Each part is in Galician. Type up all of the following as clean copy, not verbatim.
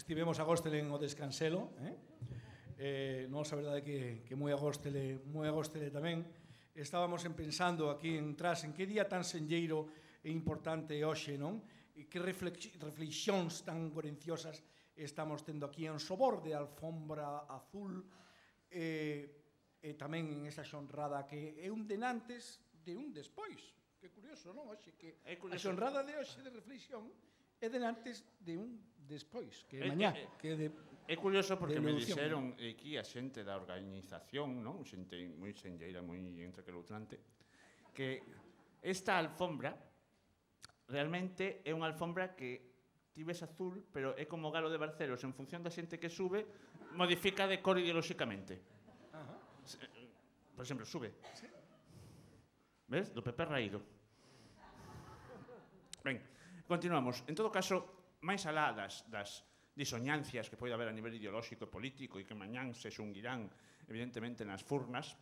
estivemos a Góstele en o descanselo, nos a verdade que moi a Góstele tamén. Estábamos pensando aquí en tras en que día tan senlleiro e importante é hoxe, non? E que reflexións tan gorenciosas estamos tendo aquí en sobor de alfombra azul e tamén en esa xonrada que é un denantes de un despois. Que curioso, non? Oxe, que a xonrada de hoxe de reflexión é denantes de un despois, que é mañá, que é de... É curioso porque me dixeron aquí a xente da organización, non? Xente moi senlleira, moi entrequelutrante, que esta alfombra realmente é unha alfombra que ti ves azul, pero é como galo de Barcelos, en función da xente que sube, modifica de cor ideolóxicamente. Por exemplo, sube. Ves? Do Pepe raído. Ben, continuamos. En todo caso, máis alá das disoñancias que pode haber a nivel ideolóxico e político e que mañán se xunguirán, evidentemente, nas furnas,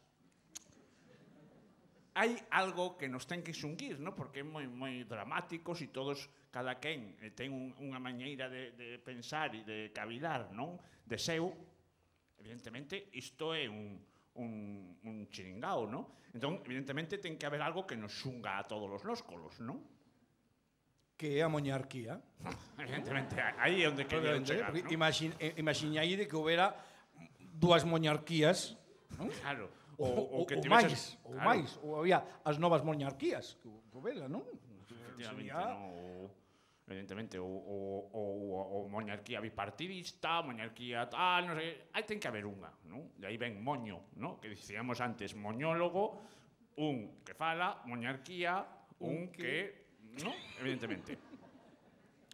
hai algo que nos ten que xunguir, non? Porque é moi dramáticos e todos, cada quen ten unha mañeira de pensar e de cavilar, non? De seu, evidentemente, isto é un chiringao, non? Entón, evidentemente, ten que haber algo que nos xunga a todos os nóscolos, non? Que é a monarquía. Evidentemente, aí é onde querían chegar, non? Imaxinai de que houbera dúas monarquías, non? Claro. Ou máis, ou había as novas monarquías que houbera, non? Efectivamente, evidentemente, ou monarquía bipartidista, monarquía tal, non sei, aí ten que haber unha, non? E aí ven moño, non? Que dicíamos antes, moñólogo, un que fala, monarquía, un que... non? Evidentemente.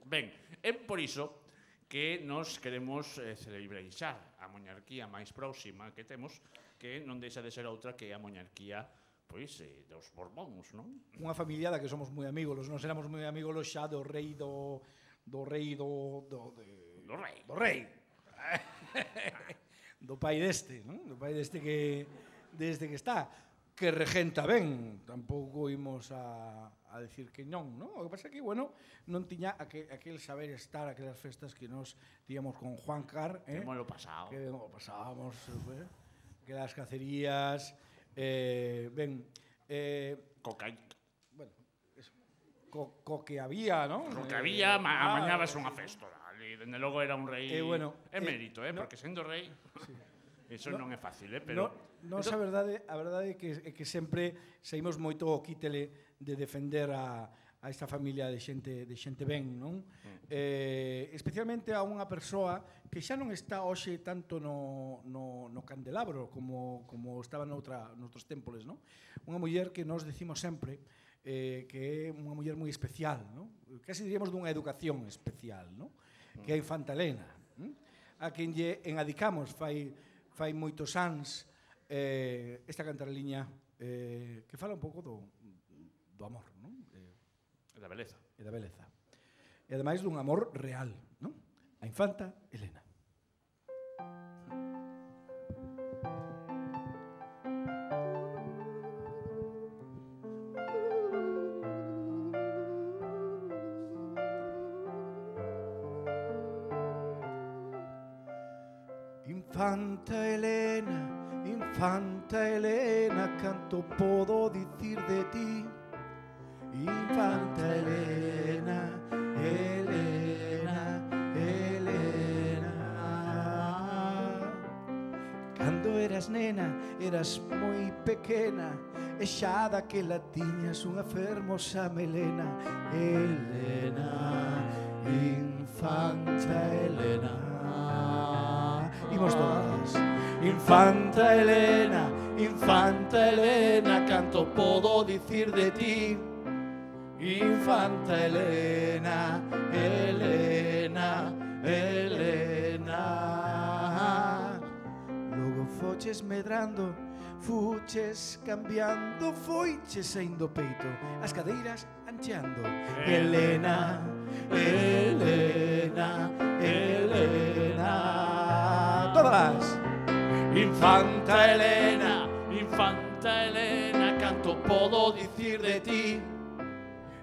Ben, é por iso que nos queremos celebreixar a monarquía máis próxima que temos, que non deixa de ser outra que a monarquía pois, dos Borbóns, non? Unha familia da que somos moi amigos, nos éramos moi amigos xa do rei do rei do pai deste, non? Do pai deste que desde que está, que regenta ben, tampouco imos a decir que non, non? O que pasa é que, bueno, non tiña aquel saber estar, aquelas festas que nos tíamos con Juan Car, que mo lo pasado. Que mo pasábamos, que las cacerías, ben, bueno, co que había, non? Co que había, amañabas unha festa, e dende logo era un rei emérito, porque sendo rei, iso non é fácil, pero... Nos a verdade é que sempre saímos moito o quítele de defender a esta familia de xente ben, non? Especialmente a unha persoa que xa non está hoxe tanto no candelabro como estaba noutros tempos, non? Unha muller que nos decimos sempre que é unha muller moi especial, non? Casi diríamos dunha educación especial, non? Que é a Infanta Elena, a quen lle enadicamos fai moitos ans esta cantarliña que fala un pouco do amor, non? E da beleza. E da beleza. E ademais dun amor real, non? A Infanta Elena. Infanta Elena, canto podo dicir de ti. Infanta Elena, cando eras nena, eras moi pequena, e xa daquela tiñas unha fermosa melena. Elena, Infanta Elena. Imos todas. Infanta Elena, canto podo dicir de ti. Infanta Elena, logo foches medrando, fuches cambiando, foiches saindo peito, as cadeiras ancheando. Elena, todas. Infanta Elena, canto podo dicir de ti.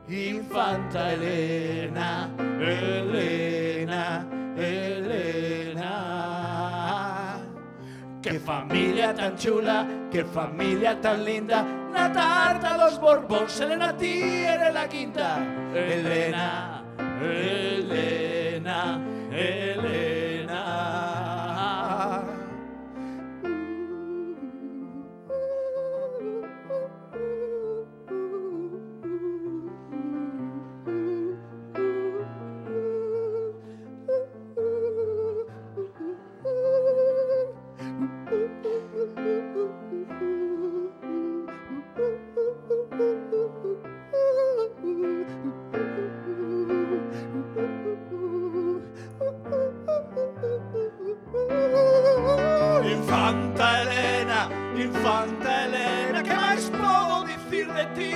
Infanta Elena, Elena, Elena. Que familia tan chula, que familia tan linda, na tarta dos Borbóns, Elena, ti eres la quinta. Elena, Elena, Elena. Infanta Elena, Infanta Elena, que máis podo dicir de ti?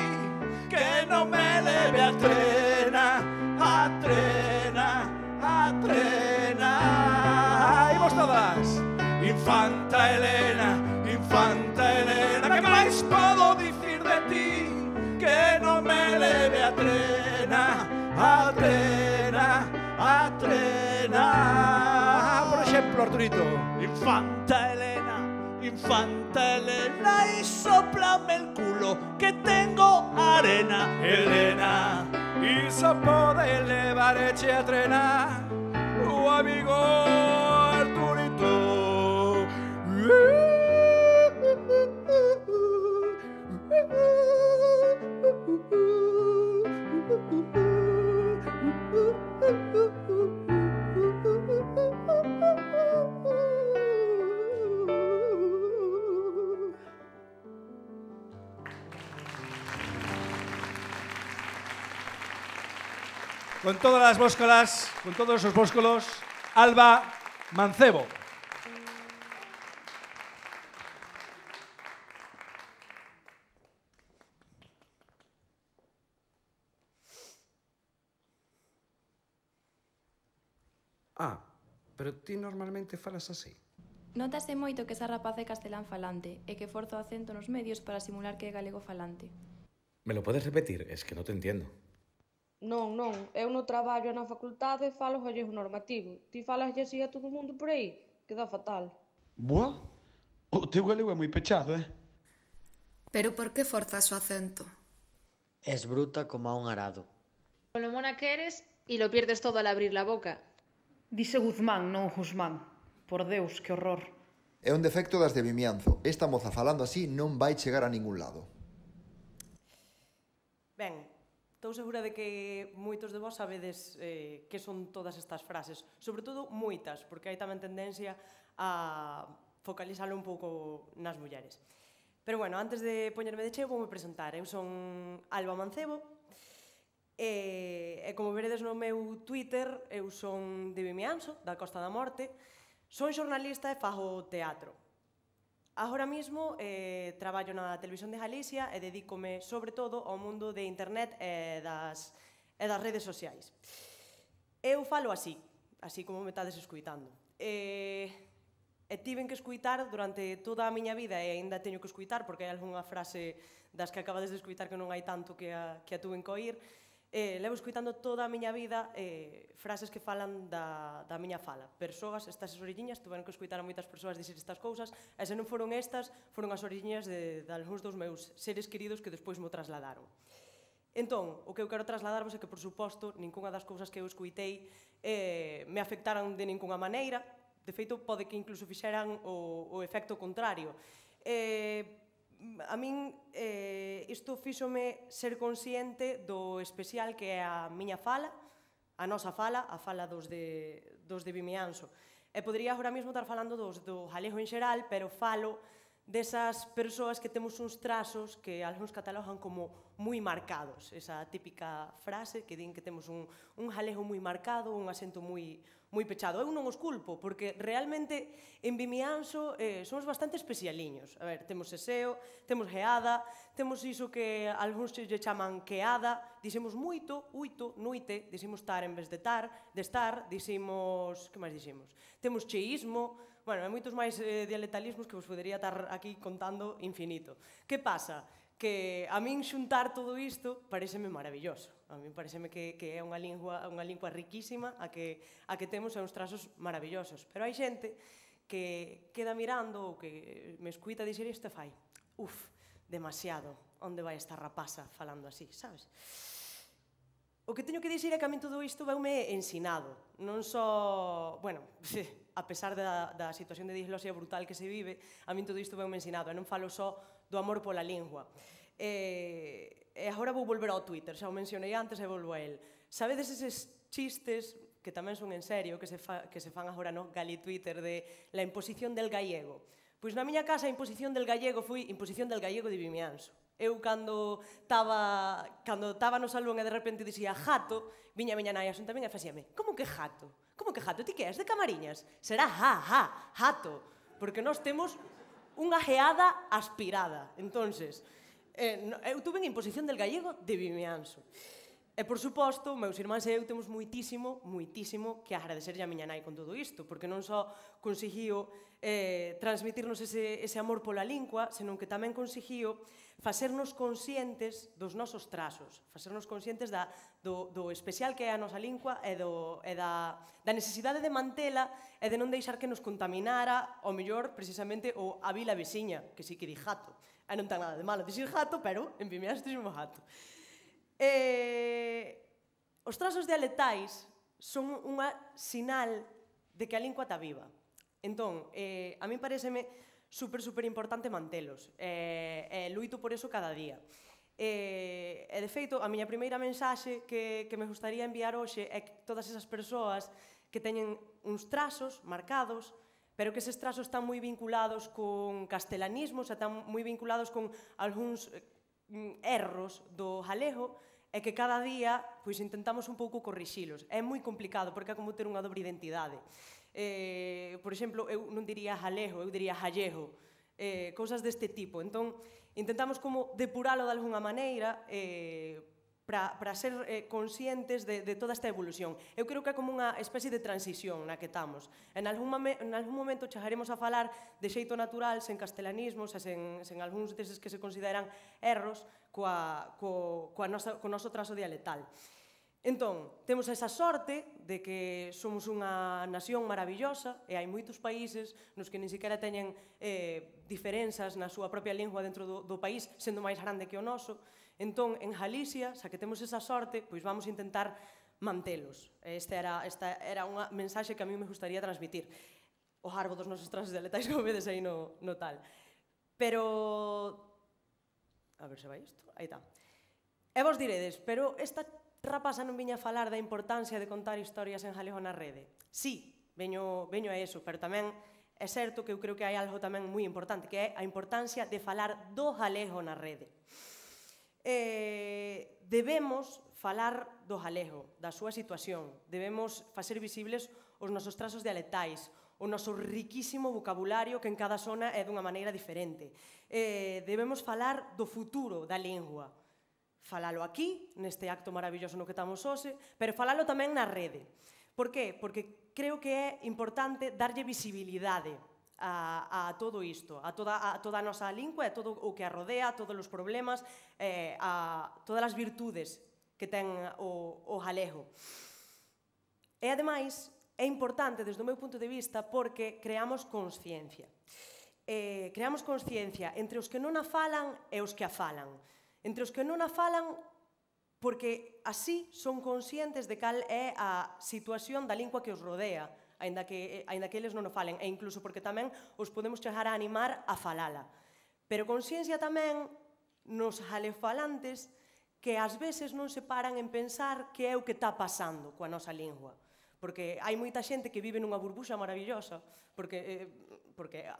Que non me leve a trena, a trena, a trena. Imos todas. Infanta Elena, Infanta Elena, que máis podo dicir de ti? Que non me leve a trena, a trena, a trena. Por exemplo, Arturito. Infanta Elena, Infanta Elena, y soplame el culo que tengo arena. Elena, y se pode elevar eche a trena o amigo Arturito. Con todas las bóscolas, con todos esos bóscolos, Alba Mancebo. Pero ti normalmente falas así? Notase moito que esa rapaz é castelán falante e que forza o acento nos medios para simular que é galego falante. ¿Me lo puedes repetir? Es que no te entiendo. Non, eu no traballo e na facultade falo gallego normativo. Ti falas así a todo o mundo por aí? Queda fatal. Boa, o teu galego é moi pechado, Pero por que forzas o acento? Es bruta como a un arado. Con lo mona que eres y lo pierdes todo al abrir la boca. Dice Guzmán, non Guzmán. Por Deus, que horror. É un defecto das de Vimianzo. Esta moza falando así non vai chegar a ningún lado. Ben, estou segura de que moitos de vós sabedes que son todas estas frases. Sobre todo, moitas, porque hai tamén tendencia a focalizarlo un pouco nas mulleres. Pero bueno, antes de poñerme de cheo, voume presentar. Eu son Alba Mancebo, e como veredes no meu Twitter, eu son de Vimianzo, da Costa da Morte, son xornalista e fago teatro. Agora mesmo traballo na Televisión de Galicia e dedícome sobre todo ao mundo de internet e das redes sociais. Eu falo así como me estades escuitando. E tiven que escuitar durante toda a miña vida e aínda teño que escuitar porque hai algunha frase das que acabades de escuitar que non hai tanto que a tuven que oír. Levo escuitando toda a miña vida frases que falan da miña fala. Persoas, estas orelliñas, tuveron que escuitar a moitas persoas dicir estas cousas, e se non foron estas, foron as orelliñas de algúns dos meus seres queridos que despois mo trasladaron. Entón, o que eu quero trasladarvos é que, por suposto, ningunha das cousas que eu escuitei me afectaran de ningunha maneira. De feito, pode que incluso fixeran o efecto contrario. A min isto fíxome ser consciente do especial que é a miña fala, a nosa fala, a fala dos de Vimianzo. E podería agora mesmo estar falando do galego en xeral, pero falo desas persoas que temos uns trazos que algúns catalogan como moi marcados. Esa típica frase que din que temos un galego moi marcado, un acento moi pechado. Eu non os culpo, porque realmente en Vimianzo somos bastante especialiños. A ver, temos seseo, temos geada, temos iso que algúns lle chaman queada, dixemos moito, uito, noite, dixemos tar en vez de estar, dixemos, que máis dixemos? Temos cheísmo, Bueno, hai moitos máis dialectalismos que vos podería estar aquí contando infinito. Que pasa? Que a min xuntar todo isto pareceme maravilloso. A min pareceme que é unha lingua riquísima a que temos uns trazos maravillosos. Pero hai xente que queda mirando ou que me escuita dixer isto e fai demasiado, onde vai esta rapaza falando así, sabes? O que teño que dixir é que a min todo isto veume ensinado. Non só, bueno, a pesar da situación de disglosia brutal que se vive, a min todo isto veume ensinado. E non falo só do amor pola lingua. E agora vou volver ao Twitter, xa o mencionei antes e volvo a él. Sabedes eses chistes, que tamén son en serio, que se fan agora no gali Twitter, de la imposición del gallego? Pois na miña casa a imposición del gallego foi imposición del gallego de Vimianzo. Eu, cando estaba no salón e de repente dixía jato, viña a miña nai asunta tamén e facíame, como que jato? Como que jato? Ti que és de Camariñas? Será jato, porque nós temos unha geada aspirada. Entonces, eu tuve en imposición del gallego de Vimianzo. E, por suposto, meus irmáns e eu temos moitísimo que agradecerlle a miña nai con todo isto, porque non só conseguiu transmitirnos ese amor pola lingua, senón que tamén conseguiu facernos conscientes dos nosos trazos, facernos conscientes do especial que é a nosa lingua e da necesidade de mantela e de non deixar que nos contaminara, ao mellor, precisamente, a vila veciña, que sí que di jato. E non ten nada de malo dixir jato, pero en Vimianzo dixemos jato. Os trazos dialectais son unha sinal de que a lingua está viva. Entón, a min pareceme super importante mantelos. Luito por eso cada día. E, de feito, a miña primeira mensaxe que me gustaría enviar hoxe é que todas esas persoas que teñen uns trazos marcados, pero que eses trazos están moi vinculados con castelanismos, están moi vinculados con algúns erros do galego, e que cada día intentamos un pouco corrixilos. É moi complicado, porque é como ter unha dobre identidade. Por exemplo, eu non diría galego, eu diría gallego, cousas deste tipo. Entón, intentamos como depuralo de alguna maneira para ser conscientes de toda esta evolución. Eu creo que é como unha especie de transición na que estamos. En algún momento chegaremos a falar de xeito natural, sen castelanismos e sen algúns deses que se consideran erros co noso trazo dialectal. Entón, temos esa sorte de que somos unha nación maravillosa e hai moitos países nos que nin sequera teñen diferenzas na súa propia lingua dentro do país, sendo máis grande que o noso. Entón, en Galicia, xa que temos esa sorte, pois vamos a intentar mantelos. Esta era unha mensaxe que a mí me gustaría transmitir. O garbo dos nosos trazos dialectais, como vedes aí no tal. Pero... A ver se vai isto. Aí está. E vos diredes, pero esta rapaza non viña a falar da importancia de contar historias en galego na rede. Sí, veño a eso, pero tamén é certo que eu creo que hai algo tamén moi importante, que é a importancia de falar do galego na rede. Debemos falar do galego, da súa situación, debemos facer visibles os nosos trazos dialectais, o noso riquísimo vocabulario que en cada zona é dunha maneira diferente. Debemos falar do futuro da lingua, falalo aquí, neste acto maravilloso no que estamos hoxe, pero falalo tamén na rede. Por qué? Porque creo que é importante darlle visibilidade a todo isto, a toda a nosa lingua, a todo o que a rodea, a todos os problemas, a todas as virtudes que ten o galego. E, ademais, é importante, desde o meu punto de vista, porque creamos consciencia. Creamos consciencia entre os que non a falan e os que a falan. Entre os que non a falan, porque así son conscientes de cal é a situación da lingua que os rodea, aínda que eles non o falen, e incluso porque tamén os podemos chegar a animar a falala. Pero consciencia tamén nos galefalantes que ás veces non se paran en pensar que é o que está pasando coa nosa lingua. Porque hai moita xente que vive nunha burbuxa maravillosa, porque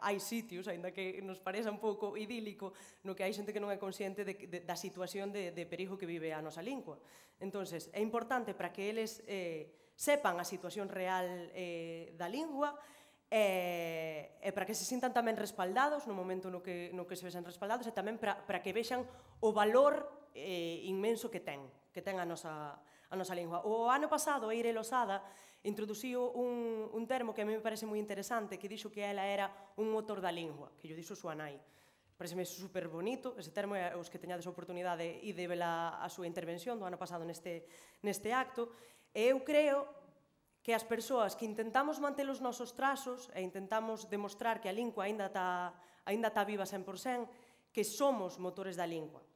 hai sitios, aínda que nos pareza un pouco idílico, no que hai xente que non é consciente da situación de perigo que vive a nosa lingua. Entón, é importante para que eles sepan a situación real da lingua e para que se sintan tamén respaldados no momento no que se vexan respaldados e tamén para que vexan o valor inmenso que ten a nosa lingua. O ano pasado, Eire Losada introduciu un termo que a mí me parece moi interesante, que dixo que ela era un motor da lingua, que lle dixo súa nai. Pareceme super bonito, ese termo é os que teñades a oportunidade e de vela a súa intervención do ano pasado neste acto, e eu creo que as persoas que intentamos manter os nosos trazos e intentamos demostrar que a lingua aínda está viva 100%, que somos motores da lingua.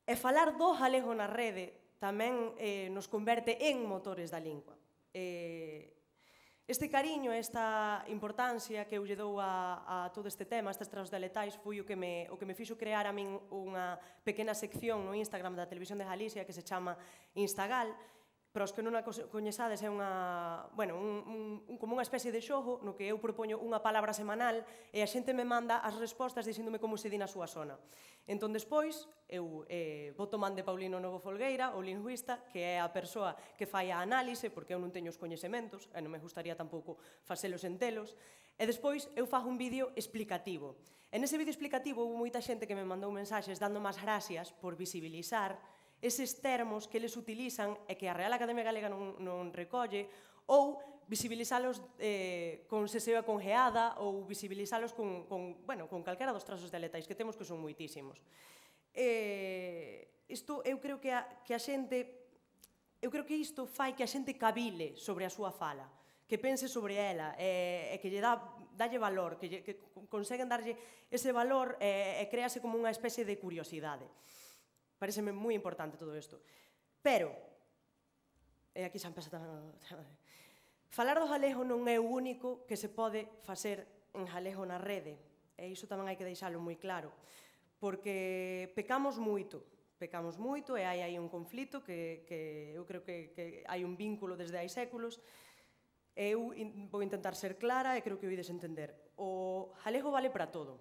E falar do galego na rede tamén nos converte en motores da lingua. Este cariño, esta importancia que eu lle dou a todo este tema, a estes trazos dialectais, foi o que me fixo crear a min unha pequena sección no Instagram da Televisión de Galicia que se chama Instagal. Para os que non a coñezades, é como unha especie de xogo no que eu propoño unha palabra semanal e a xente me manda as respostas dicíndome como se di na súa zona. Entón, despois, eu boto man de Paulino Novo Folgueira, o lingüista, que é a persoa que fai a análise, porque eu non teño os coñecementos, e non me gustaría tampouco facelos en telos, e despois eu fago un vídeo explicativo. En ese vídeo explicativo houve moita xente que me mandou mensaxes dando máis gracias por visibilizar eses termos que eles utilizan e que a Real Academia Galega non recolle, ou visibilizalos con seseo e con geada, ou visibilizalos con calquera dos trazos dialectais que temos, que son moitísimos. Isto, eu creo que a xente, eu creo que isto fai que a xente cabile sobre a súa fala, que pense sobre ela, e que lle dalle valor, que conseguen darlle ese valor e créase como unha especie de curiosidade. Pareceme moi importante todo isto. Pero, e aquí xa empeza falar do galego non é o único que se pode facer en galego na rede. E iso tamén hai que deixalo moi claro. Porque pecamos moito e hai aí un conflito que eu creo que hai un vínculo desde hai séculos. Eu vou intentar ser clara e creo que o ides entender. O galego vale para todo.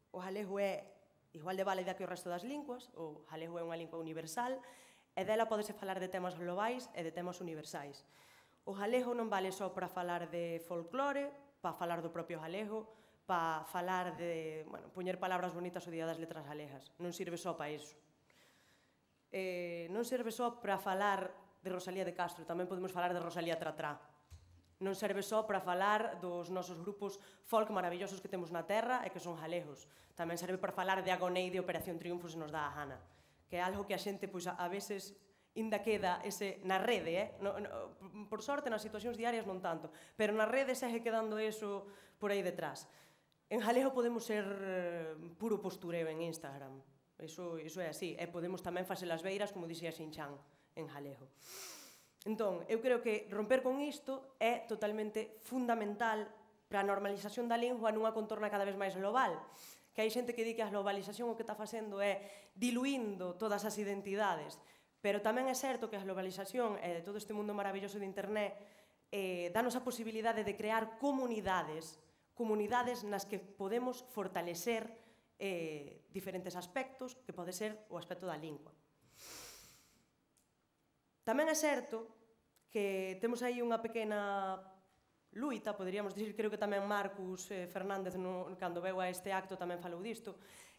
O galego é igual de válida que o resto das linguas, o galego é unha lingua universal, e dela podese falar de temas globais e de temas universais. O galego non vale só para falar de folclore, para falar do propio galego, para falar de, poñer palabras bonitas o día das letras galegas. Non sirve só para iso. Non serve só para falar de Rosalía de Castro, tamén podemos falar de Rosalía Tratrá. Non serve só para falar dos nosos grupos folk maravillosos que temos na terra e que son galegos. Tamén serve para falar de Agonei de Operación Triunfo se nos dá a gana. Que é algo que a xente, a veces, inda queda na rede, por sorte, nas situacións diarias non tanto, pero na rede segue quedando eso por aí detrás. En galego podemos ser puro postureo en Instagram. Iso é así. E podemos tamén facer as beiras, como dixía Xinchán, en galego. Entón, eu creo que romper con isto é totalmente fundamental para a normalización da lingua nunha contorna cada vez máis global. Que hai xente que di que a globalización o que está facendo é diluindo todas as identidades, pero tamén é certo que a globalización e todo este mundo maravilloso de internet danos a posibilidade de crear comunidades nas que podemos fortalecer diferentes aspectos, que pode ser o aspecto da lingua. Tamén é certo que temos aí unha pequena luita, poderíamos dicir, creo que tamén Marcus Fernández, cando veu a este acto, tamén falou disto,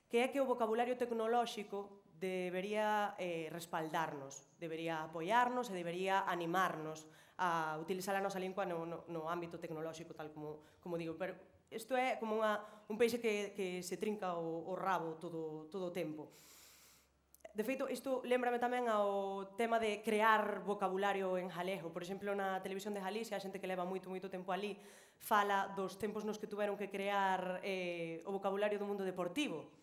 que é que o vocabulario tecnolóxico debería respaldarnos, debería apoiarnos e debería animarnos a utilizar a nosa lingua no ámbito tecnolóxico, tal como digo. Pero isto é como un peixe que se trinca o rabo todo o tempo. De feito, isto lembrame tamén ao tema de crear vocabulario en galego. Por exemplo, na Televisión de Galicia, a xente que leva moito tempo ali fala dos tempos nos que tuveron que crear o vocabulario do mundo deportivo,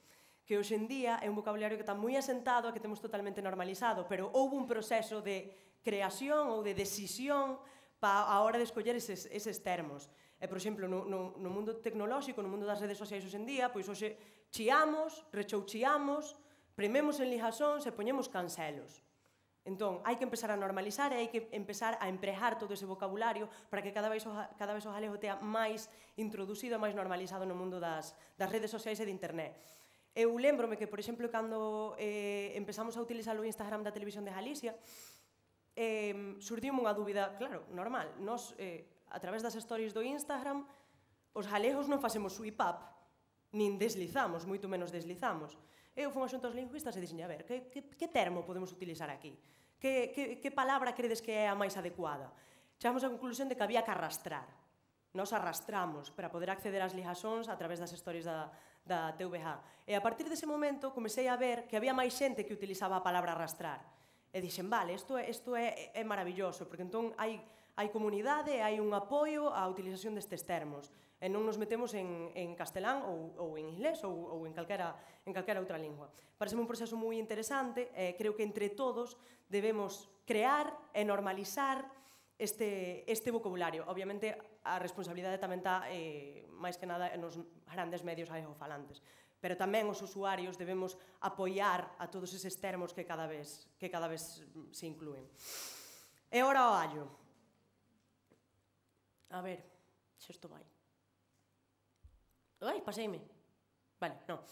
que hoxe en día é un vocabulario que está moi asentado e que temos totalmente normalizado, pero houve un proceso de creación ou de decisión a hora de escoller eses termos. E, por exemplo, no mundo tecnolóxico, no mundo das redes sociais hoxe en día, pois hoxe chiamos, rechouchiamos, prememos en ligazóns e poñemos cancelos. Entón, hai que empezar a normalizar e hai que empezar a empregar todo ese vocabulario para que cada vez o galego tea máis introducido e máis normalizado no mundo das redes sociais e de internet. Eu lembrome que, por exemplo, cando empezamos a utilizar o Instagram da Televisión de Galicia, surdiu unha dúbida, claro, normal. Nos, a través das stories do Instagram, os galegos non facemos swipe up, nin deslizamos, moito menos deslizamos. Eu fui xunto aos lingüistas e dixen, a ver, que termo podemos utilizar aquí? Que palabra credes que é a máis adecuada? chegamos á conclusión de que había que arrastrar. Nos arrastramos para poder acceder ás ligazóns a través das stories da TVG. E a partir dese momento comecei a ver que había máis xente que utilizaba a palabra arrastrar. E dixen, vale, isto é maravilloso, porque entón hai comunidade, hai un apoio á utilización destes termos. E non nos metemos en castelán ou en inglés ou en calquera outra lingua. Parece un proceso moi interesante e creo que entre todos debemos crear e normalizar este vocabulario. Obviamente, a responsabilidade tamén está máis que nada nos grandes medios galegofalantes, pero tamén os usuarios debemos apoiar a todos eses termos que cada vez se inclúen. E ora o allo. A ver, se isto vai. Ai, paseime. Vale, non.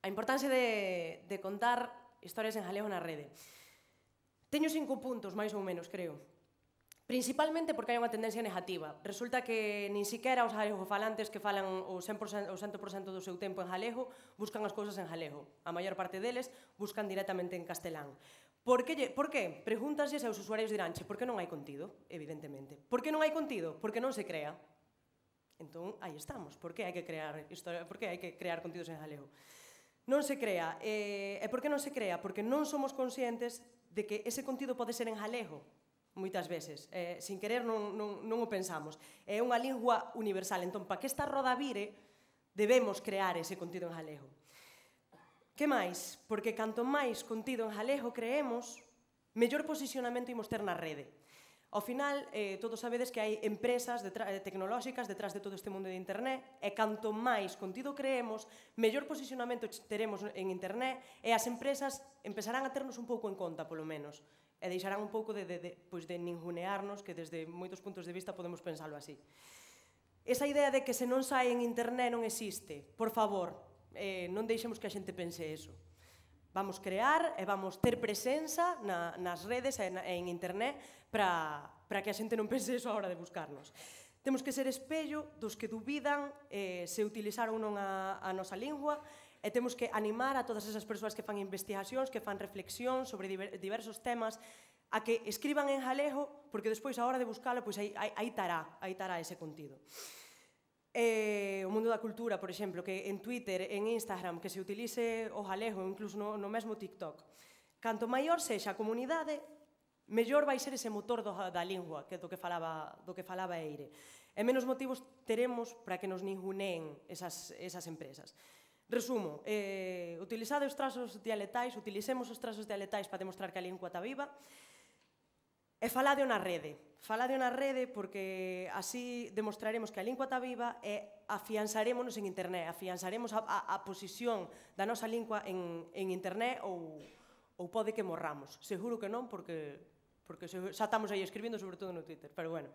A importancia de contar historias en galego na rede. Teño 5 puntos, máis ou menos, creo. Principalmente porque hai unha tendencia negativa. Resulta que nin siquiera os galegofalantes que falan o 100% do seu tempo en galego buscan as cousas en galego. A maior parte deles buscan directamente en castelán. Por que? Pregúntaslle aos usuarios diránche, por que non hai contido? Evidentemente. Por que non hai contido? Porque non se crea. Entón, aí estamos. Por que hai que crear contidos en galego? Non se crea. E por que non se crea? Porque non somos conscientes de que ese contido pode ser en galego. Moitas veces, sin querer non o pensamos. É unha lingua universal, entón, para que esta roda vire, debemos crear ese contido en galego. Que máis? Porque canto máis contido en galego creemos, mellor posicionamento imos ter na rede. Ao final, todos sabedes que hai empresas tecnolóxicas detrás de todo este mundo de internet, e canto máis contido creemos, mellor posicionamento teremos en internet, e as empresas empezarán a ternos un pouco en conta, polo menos. E deixarán un pouco de ningunearnos, que desde moitos puntos de vista podemos pensalo así. Esa idea de que se non sai en internet non existe. Por favor, non deixemos que a xente pense eso. Vamos crear e vamos ter presenza nas redes e en internet para que a xente non pense eso a hora de buscarnos. Temos que ser espello dos que dubidan se utilizaron ou non a nosa lingua, e temos que animar a todas esas persoas que fan investigacións, que fan reflexións sobre diversos temas, a que escriban en galego, porque despois, a hora de buscalo, aí tará ese contido. O mundo da cultura, por exemplo, que en Twitter, en Instagram, que se utilice o galego, incluso no mesmo TikTok. Canto maior sexa a comunidade, mellor vai ser ese motor da lingua, que do que falaba Eire. E menos motivos teremos para que nos ninguneen esas empresas. Resumo, utilizade os trazos dialectais, utilicemos os trazos dialectais para demostrar que a lingua está viva, e falade na rede. Falade na rede porque así demostraremos que a lingua está viva e afianzarémonos en internet, afianzaremos a posición da nosa lingua en internet ou pode que morramos. Seguro que non, porque xa estamos aí escribindo, sobre todo no Twitter, pero bueno.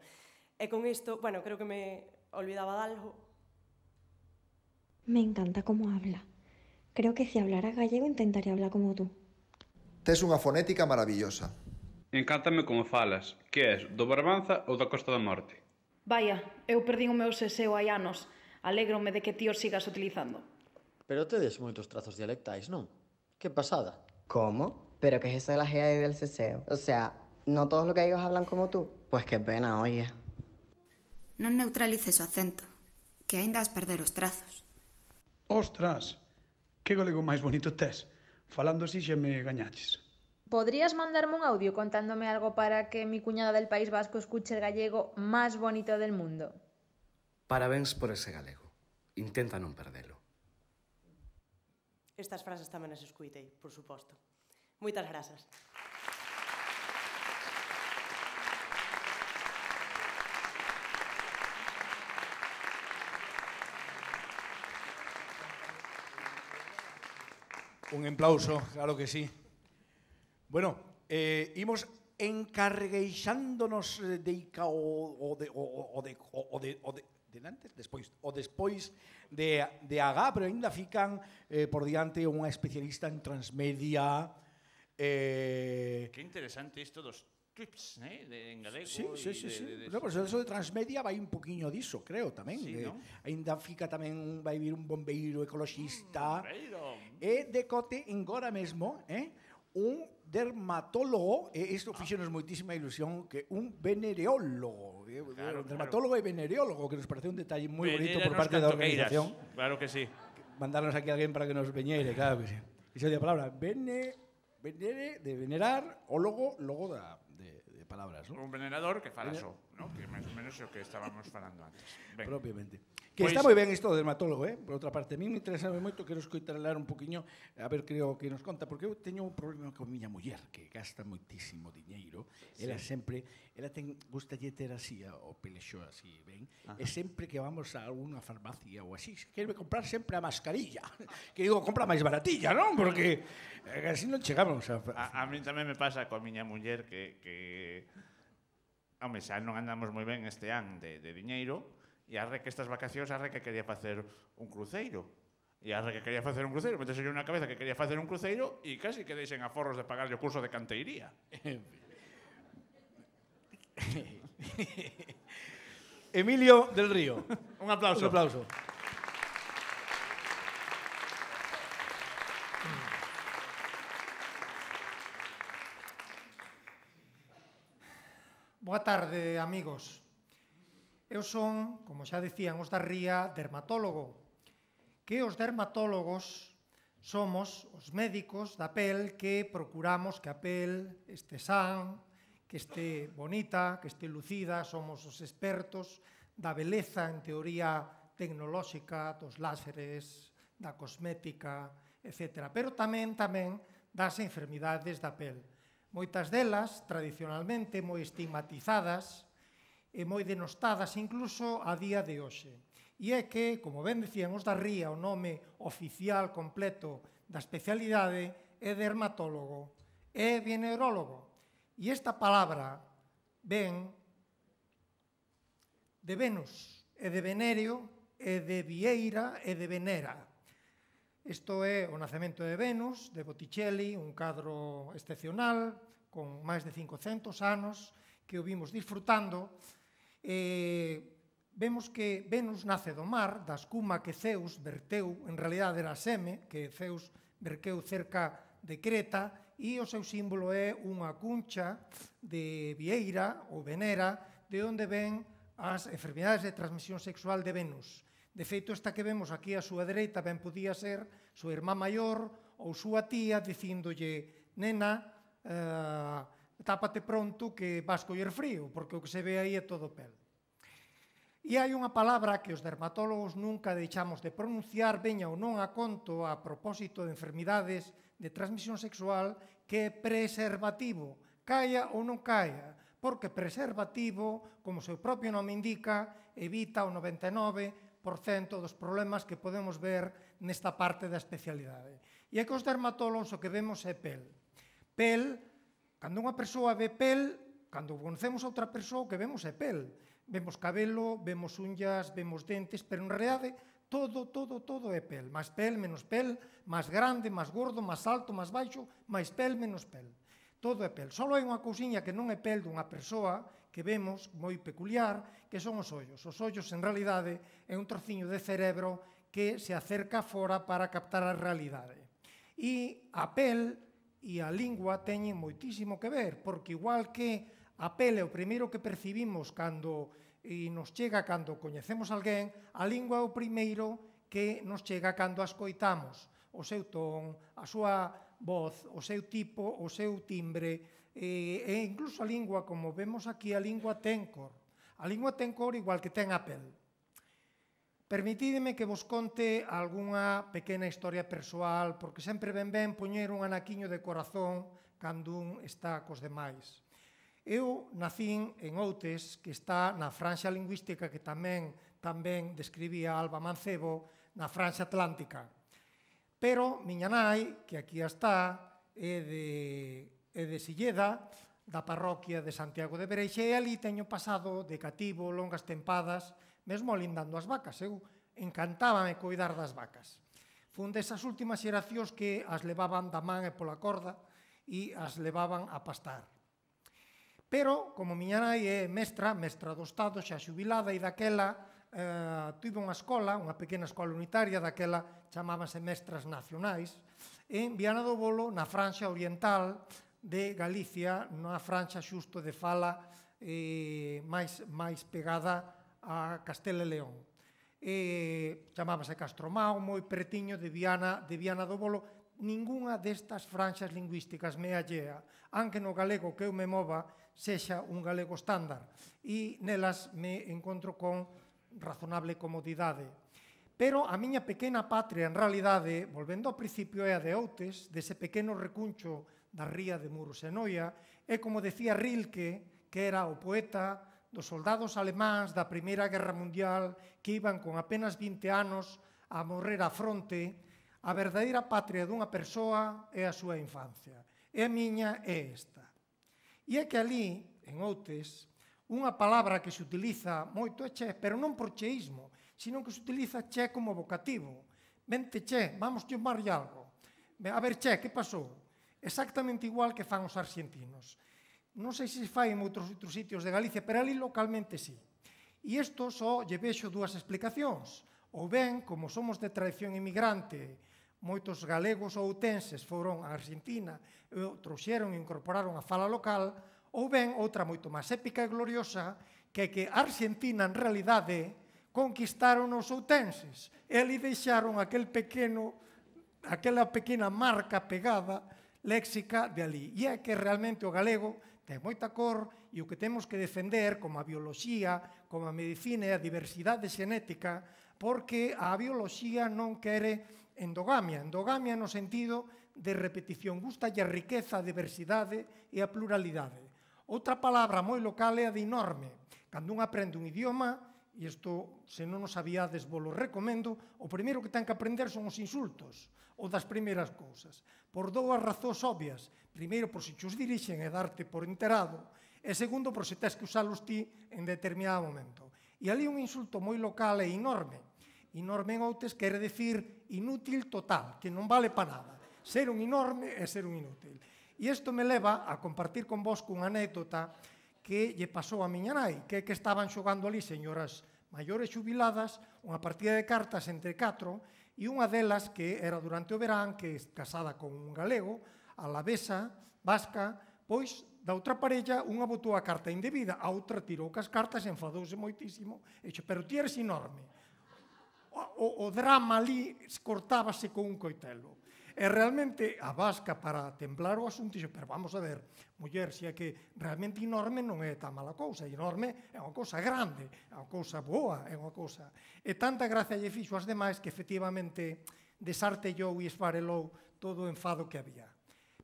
E con isto, bueno, creo que me olvidaba de algo. Me encanta cómo habla. Creo que si hablara gallego intentaría hablar como tú. Tes unha fonética maravillosa. Encántame como falas. Que és, do Barbanza ou da Costa da Morte? Vaya, eu perdín o meu seseo hai anos. Alégrome de que ti os sigas utilizando. Pero tedes moitos trazos dialectais, non? Que pasada. ¿Cómo? ¿Pero qué es eso de la GA y del ceseo? O sea, ¿no todos los gallegos hablan como tú? Pues qué pena, oye. Non neutralices o acento, que aínda has perder os trazos. Ostras, que galego máis bonito tes. Falando así xa me gañaches. ¿Podrías mandarme un audio contándome algo para que mi cuñada del País Vasco escuche el gallego más bonito del mundo? Parabéns por ese galego. Intenta non perdelo. Estas frases tamén as escuitei, por suposto. Moitas grazas. Un aplauso, claro que sí. Bueno, imos encargueixándonos despois de Agá, pero ainda fican por diante unha especialista en transmedia. Que interesante isto dos tweets, en galego. Sí. No, pero eso de transmedia vai un poquinho diso, creo, tamén. Ainda fica tamén, vai vir un bombeiro ecoloxista. E decote engora mesmo, un dermatólogo, e isto fixonos moitísima ilusión, que un venereólogo. Un dermatólogo e venereólogo, que nos parece un detalle moi bonito por parte da organización. Claro que sí. Mandarnos aquí a alguén para que nos veñeire, claro que sí. Iso é a palabra venere, de venerar, o logo de palabras, non? Un venerador que fala só, non? Que máis ou menos é o que estábamos falando antes. Propiamente. Que está moi ben isto do dermatólogo, por outra parte. A mí me interesa moito, quero escoitarlar un poquinho, a ver, creo que nos conta, porque eu teño un problema con miña muller, que gasta moitísimo diñeiro. Ela sempre, ela gustalle ter así, o pelexo así, ben, e sempre que vamos a alguna farmacia ou así, quereme comprar sempre a mascarilla. Que digo, compra máis baratilla, non? Porque así non chegamos a mí tamén me pasa coa miña muller que home, xa non andamos moi ben este ano de diñeiro, e arre que estas vacacións arre que quería facer un cruceiro. E arre que quería facer un cruceiro, metese yo na cabeza que quería facer un cruceiro e casi que deixen aforros de pagarlle o curso de canteiría. Emilio del Río. Un aplauso. Un aplauso. Boa tarde, amigos. Eu son, como xa decían os da Ría, dermatólogo. Que os dermatólogos somos os médicos da pel que procuramos que a pel este san, que este bonita, que este lucida, somos os expertos da beleza en teoría tecnolóxica, dos láseres, da cosmética, etc. Pero tamén das enfermidades da pel. Moitas delas, tradicionalmente, moi estigmatizadas e moi denostadas incluso a día de hoxe. E é que, como ben decían os da Ría, o nome oficial completo da especialidade é dermatólogo, é venerólogo. E esta palabra ven de Venus, e de Venéreo, e de Vieira, e de Venera. Isto é o nacemento de Venus, de Botticelli, un cadro excepcional, con máis de 500 anos, que o vimos disfrutando. Vemos que Venus nace do mar, da escuma que Zeus verteu, en realidade era seme, que Zeus verteu cerca de Creta, e o seu símbolo é unha cuncha de Vieira ou Venera, de onde ven as enfermidades de transmisión sexual de Venus. De feito, esta que vemos aquí á súa dereita ben podía ser súa irmá maior ou súa tía dicíndolle, nena, tápate pronto que vas coller frío, porque o que se ve aí é todo pel. E hai unha palabra que os dermatólogos nunca deixamos de pronunciar, veña ou non a conto a propósito de enfermidades de transmisión sexual, que é preservativo, caia ou non caia, porque preservativo, como o seu propio nome indica, evita o 99% dos problemas que podemos ver nesta parte da especialidade. E é que os dermatólogos o que vemos é pel. Pel, cando unha persoa ve pel, cando conocemos a outra persoa, o que vemos é pel. Vemos cabelo, vemos unhas, vemos dentes, pero en realidade todo é pel. Máis pel, menos pel, máis grande, máis gordo, máis alto, máis baixo, máis pel, menos pel. Todo é pel. Só hai unha cousiña que non é pel dunha persoa que vemos moi peculiar, que son os ollos. Os ollos, en realidade, é un trociño de cerebro que se acerca fora para captar a realidade. E a pel e a lingua teñen moitísimo que ver, porque igual que a pel é o primeiro que percibimos cando nos chega cando coñecemos alguén, a lingua é o primeiro que nos chega cando a escoitamos. O seu ton, a súa voz, o seu tipo, o seu timbre, e incluso a lingua, como vemos aquí, a lingua ten cor. A lingua ten cor igual que ten a pel. Permitídeme que vos conte algunha pequena historia persoal, porque sempre ben poñer un anaquiño de corazón cando un está cos demais. Eu nacín en Outes, que está na franxa lingüística que tamén describía Alba Mancebo, na franxa atlántica. Pero miña nai, que aquí está, é de Silleda, da parroquia de Santiago de Bereixe, e ali teño pasado de cativo longas tempadas, mesmo lindando as vacas. Eu encantábame coidar das vacas. Fun desas últimas xeracións que as levaban da man e pola corda e as levaban a pastar. Pero, como miña nai é mestra do Estado, xa xubilada, e daquela tuve unha escola, unha pequena escola unitaria, daquela chamábanse mestras nacionais, en Viana do Bolo, na franxa oriental de Galicia, na franxa xusto de fala máis pegada a Castela e León. Chamábase Castromao, moi pretiño de Viana do Bolo. Ningunha destas franxas lingüísticas me allea, aunque no galego que eu me mova sexa un galego estándar, e nelas me encontro con razonable comodidade. Pero a miña pequena patria, en realidade, volvendo ao principio, é a de Outes, dese pequeno recuncho da ría de Muros e Noia, é como decía Rilke, que era o poeta dos soldados alemáns da Primeira Guerra Mundial que iban con apenas 20 anos a morrer á fronte. A verdadeira patria dunha persoa é a súa infancia. E a miña é esta. E é que ali, en Outes, unha palabra que se utiliza moito é che, pero non por cheísmo, sino que se utiliza che como vocativo. Vente che, vamos chamarlle algo. A ver che, que pasou? Exactamente igual que fan os arxentinos. Non sei se fai en outros sitios de Galicia, pero ali localmente sí. E isto só lle vexo dúas explicacións. Ou ben, como somos de tradición inmigrante, moitos galegos ou outenses foron a Argentina e trouxeron e incorporaron a fala local, ou ben, outra moito máis épica e gloriosa, que é que a Argentina, en realidade, conquistaron os outenses e ali deixaron aquela pequena marca pegada léxica de ali. E é que realmente o galego ten moita cor e o que temos que defender, como a bioloxía, como a medicina e a diversidade xenética, porque a bioloxía non quere endogamia no sentido de repetición, gustalle a riqueza, a diversidade e a pluralidade. Outra palabra moi local é a de enorme. Cando un aprende un idioma, e isto, se non o sabíades, vos lo recomendo, o primeiro que ten que aprender son os insultos, ou das primeiras cousas, por dúas razóns obvias. Primeiro, por se chos dirixen e darte por enterado, e segundo, por se tes que usalos ti en determinado momento. E ali un insulto moi local é enorme. Enorme en Outes quere decir inútil total, que non vale para nada. Ser un enorme é ser un inútil. E isto me leva a compartir con vos cunha anécdota que lle pasou a miña nai, que é que estaban xogando ali señoras maiores xubiladas, unha partida de cartas entre 4, e unha delas, que era durante o verán, que é casada con un galego, alavesa, vasca, pois da outra parella unha botou a carta indebida, a outra tirou cas cartas e enfadouse moitísimo, e dixo, pero ti eres enorme. O drama ali cortábase con un coitelo. E realmente a vasca, para templar o asunto, dixo, pero vamos a ver, muller, se é que realmente enorme non é tan mala cousa, enorme é unha cousa grande, é unha cousa boa, é unha cousa... E tanta gracia lle fixo as demais que efectivamente desartellou e esfarelou todo o enfado que había.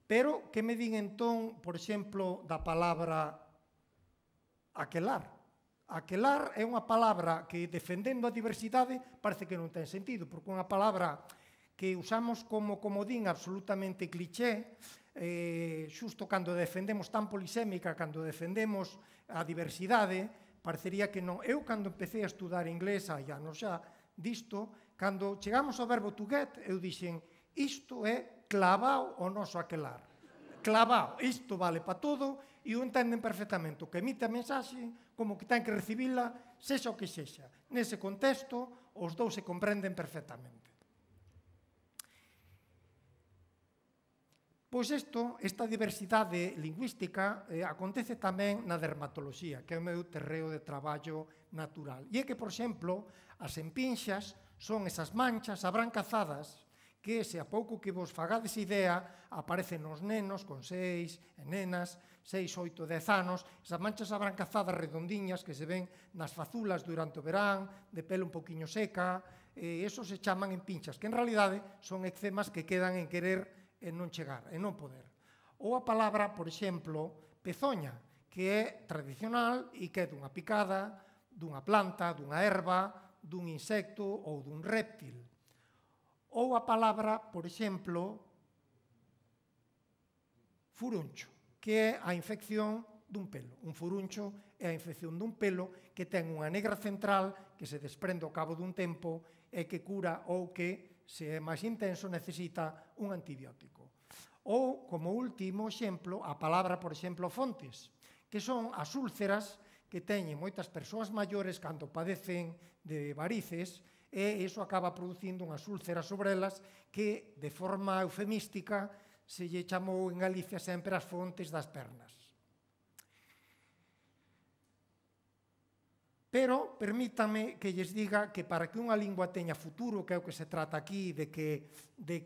Pero, que me din entón, por exemplo, da palabra aquelar? Aquelar é unha palabra que, defendendo a diversidade, parece que non ten sentido, porque unha palabra que usamos como comodín absolutamente cliché, xusto cando defendemos tan polisémica, cando defendemos a diversidade, parecería que non. Eu, cando empecé a estudar inglés, hai anos xa, disto, cando chegamos ao verbo to get, eu dixen, isto é clavao o noso aquelar. Clavao, isto vale para todo, e o entenden perfectamente. O que emite a mensaxe, como que ten que recibila, sexa o que sexa. Nese contexto, os dous se comprenden perfectamente. Pois esta diversidade lingüística acontece tamén na dermatoloxía, que é o meu terreo de traballo natural. E é que, por exemplo, as empinxas son esas manchas abrancazadas que, se a pouco que vos fagades idea, aparecen nos nenos con 6, e nenas, 6, 8, 10 anos, esas manchas abrancazadas redondiñas que se ven nas fazulas durante o verán, de pelo un poquinho seca, esos se chaman empinxas, que en realidade son eczemas que quedan en querer e non chegar, e non poder. Ou a palabra, por exemplo, pezoña, que é tradicional e que é dunha picada, dunha planta, dunha erva, dun insecto ou dun réptil. Ou a palabra, por exemplo, furuncho, que é a infección dun pelo. Un furuncho é a infección dun pelo que ten unha negra central que se desprende ao cabo dun tempo e que cura ou que, se é máis intenso, necesita un antibiótico. Ou, como último exemplo, a palabra, por exemplo, fontes, que son as úlceras que teñen moitas persoas maiores cando padecen de varices e iso acaba producindo unhas úlceras sobre elas que, de forma eufemística, se lle chamou en Galicia sempre as fontes das pernas. Pero permítame que lles diga que para que unha lingua teña futuro, que é o que se trata aquí, de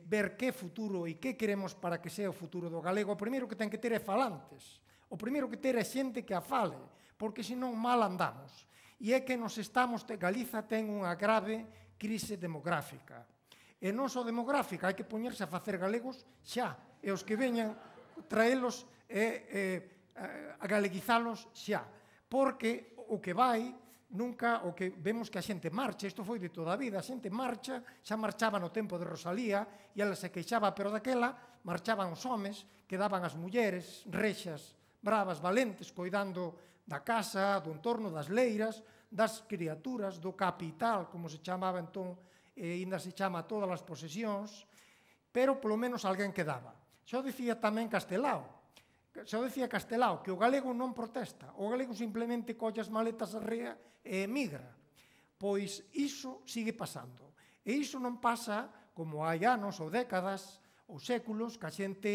ver que futuro e que queremos para que sea o futuro do galego, o primeiro que ten que ter é falantes. O primeiro que ter é xente que a fale, porque senón mal andamos. E é que Galiza ten unha grave crise demográfica. E non só demográfica, hai que poñerse a facer galegos xa. E os que veñan, traelos a galeguizalos xa. Porque o que vai... Nunca o que vemos que a xente marcha, isto foi de toda a vida, a xente marcha, xa marchaba no tempo de Rosalía, e ela se queixaba, pero daquela marchaban os homes, quedaban as mulleres, rexas, bravas, valentes, coidando da casa, do entorno, das leiras, das criaturas, do capital, como se chamaba entón, e ainda se chama a todas as posesións, pero polo menos alguén quedaba. Xo dicía tamén Castelao, que o galego non protesta, o galego simplemente colle as maletas a rea e emigra. Pois iso sigue pasando. E iso non pasa como hai anos ou décadas ou séculos que a xente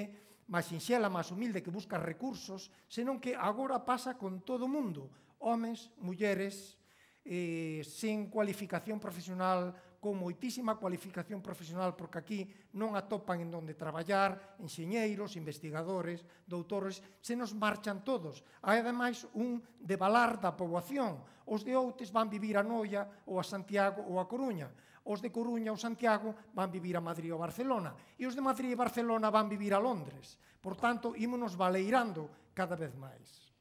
máis sinxela, máis humilde que busca recursos, senón que agora pasa con todo o mundo, homes, mulleres, sen cualificación profesional, con moitísima cualificación profesional, porque aquí non atopan en onde traballar, enxeñeiros, investigadores, doutores, se nos marchan todos. Hai, ademais, un devalar da poboación. Os de Outes van vivir a Noia, ou a Santiago, ou a Coruña. Os de Coruña ou Santiago van vivir a Madrid ou Barcelona. E os de Madrid e Barcelona van vivir a Londres. Por tanto, ímonos baleirando cada vez máis.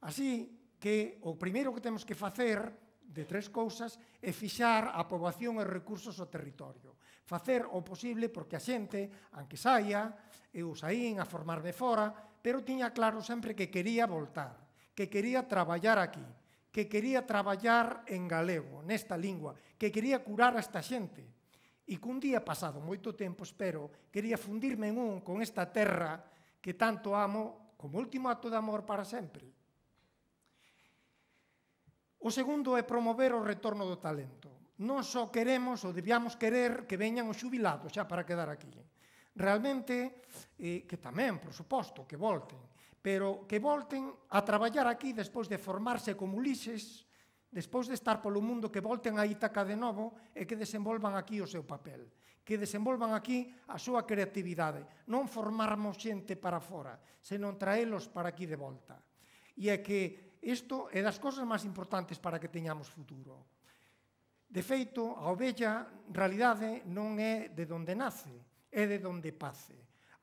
Así que o primeiro que temos que facer de tres cousas é fixar a poboación e recursos ao territorio. Facer o posible porque a xente, aunque saia, eu saín a formarme fora, pero tiña claro sempre que quería voltar, que quería traballar aquí, que quería traballar en galego, nesta lingua, que quería curar a esta xente. E que un día, pasado moito tempo, espero, quería fundirme en un con esta terra que tanto amo como último acto de amor para sempre. O segundo é promover o retorno do talento. Non só queremos ou debíamos querer que veñan os xubilados xa para quedar aquí. Realmente, que tamén, por suposto, que volten, pero que volten a traballar aquí despois de formarse como Ulises, despois de estar polo mundo, que volten a Ítaca de novo e que desenvolvan aquí o seu papel, que desenvolvan aquí a súa creatividade. Non formarmos xente para fora, senón traelos para aquí de volta. E é que isto é das cousas máis importantes para que teñamos futuro. De feito, a ovella, en realidade, non é de onde nace, é de onde pace.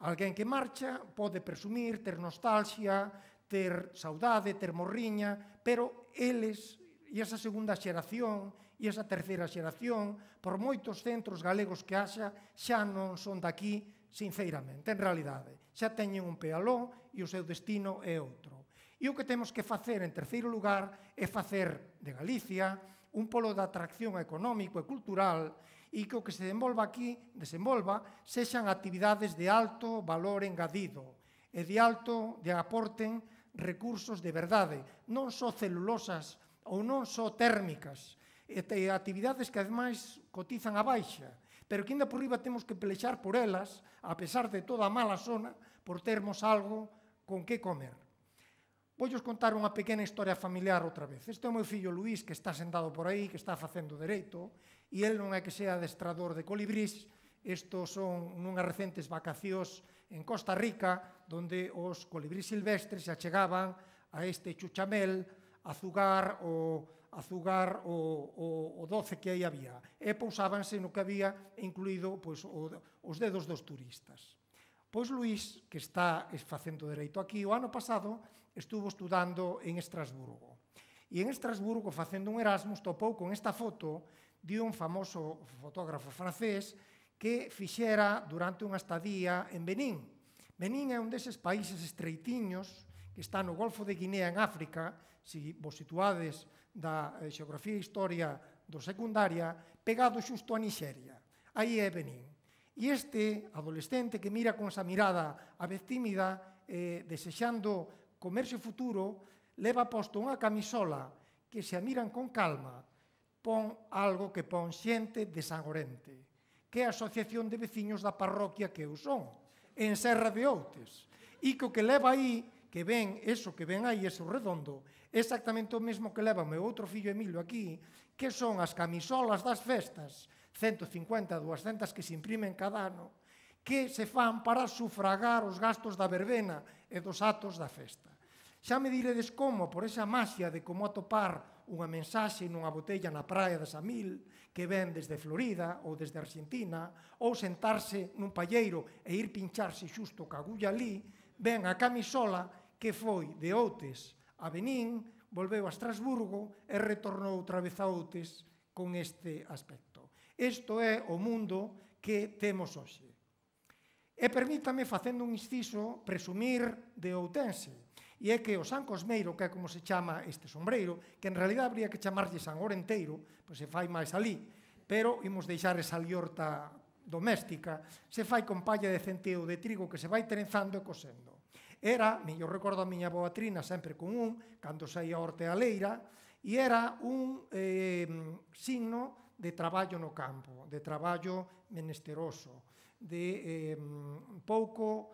Alguén que marcha pode presumir, ter nostalgia, ter saudade, ter morriña, pero eles, e esa segunda xeración, e esa terceira xeración, por moitos centros galegos que haxa, xa non son daqui, sinceramente, en realidade. Xa teñen un pé aló e o seu destino é outro. E o que temos que facer, en terceiro lugar, é facer de Galicia un polo de atracción económico e cultural e que o que se desenvolva sexan actividades de alto valor engadido e de aporten recursos de verdade, non só celulosas ou non só térmicas, e actividades que ademais cotizan a baixa, pero que ainda por riba temos que pelexar por elas, a pesar de toda a mala zona, por termos algo con que comer. Voulles contar unha pequena historia familiar outra vez. Este é o meu fillo Luís, que está sentado por aí, que está facendo dereito, e el non é que sea adestrador de colibrís. Estos son nunhas recentes vacacións en Costa Rica, donde os colibrís silvestres se achegaban a este chuchamel a zugar o doce que aí había. E pousábanse no que había, incluído os dedos dos turistas. Pois Luís, que está facendo dereito aquí, o ano pasado estuvo estudando en Estrasburgo. E en Estrasburgo, facendo un Erasmus, topou con esta foto de un famoso fotógrafo francés que fixera durante unha estadía en Benín. Benín é un deses países estreitiños que está no Golfo de Guinea en África, se vos situades da xeografía e historia do secundaria, pegado xusto a Nixeria. Aí é Benín. E este adolescente que mira con esa mirada a vez tímida, desexando comerse o futuro, leva posto unha camisola que se a miran con calma, pon algo que pon xente de Sangorente, que é a Asociación de Veciños da parroquia que eu son, en Serra de Outes. E que o que leva aí, que ven, eso que ven aí, eso redondo, exactamente o mesmo que leva o meu outro fillo Emilio aquí, que son as camisolas das festas, 150, 200 que se imprimen cada ano, que se fan para sufragar os gastos da verbena e dos atos da festa. Xa me diredes como, por esa maxia de como atopar unha mensaxe nunha botella na praia de Samil, que ven desde Florida ou desde Argentina, ou sentarse nun palleiro e ir pincharse xusto ca agulla ali, ven a camisola que foi de Outes a Benín, volveu a Estrasburgo e retornou outra vez a Outes con este aspecto. Isto é o mundo que temos hoxe. E permítame, facendo un inciso, presumir de outense. E é que o San Cosmeiro, que é como se chama este sombreiro, que en realidad habría que chamarlle San Orenteiro, pois se fai máis ali, pero imos deixar esa liorta doméstica, se fai con palla de centeo de trigo que se vai trenzando e cosendo. Era, eu recordo a miña boa Trina sempre con cando saía a hortealeira, e era un signo de traballo no campo, de traballo menesteroso, de pouco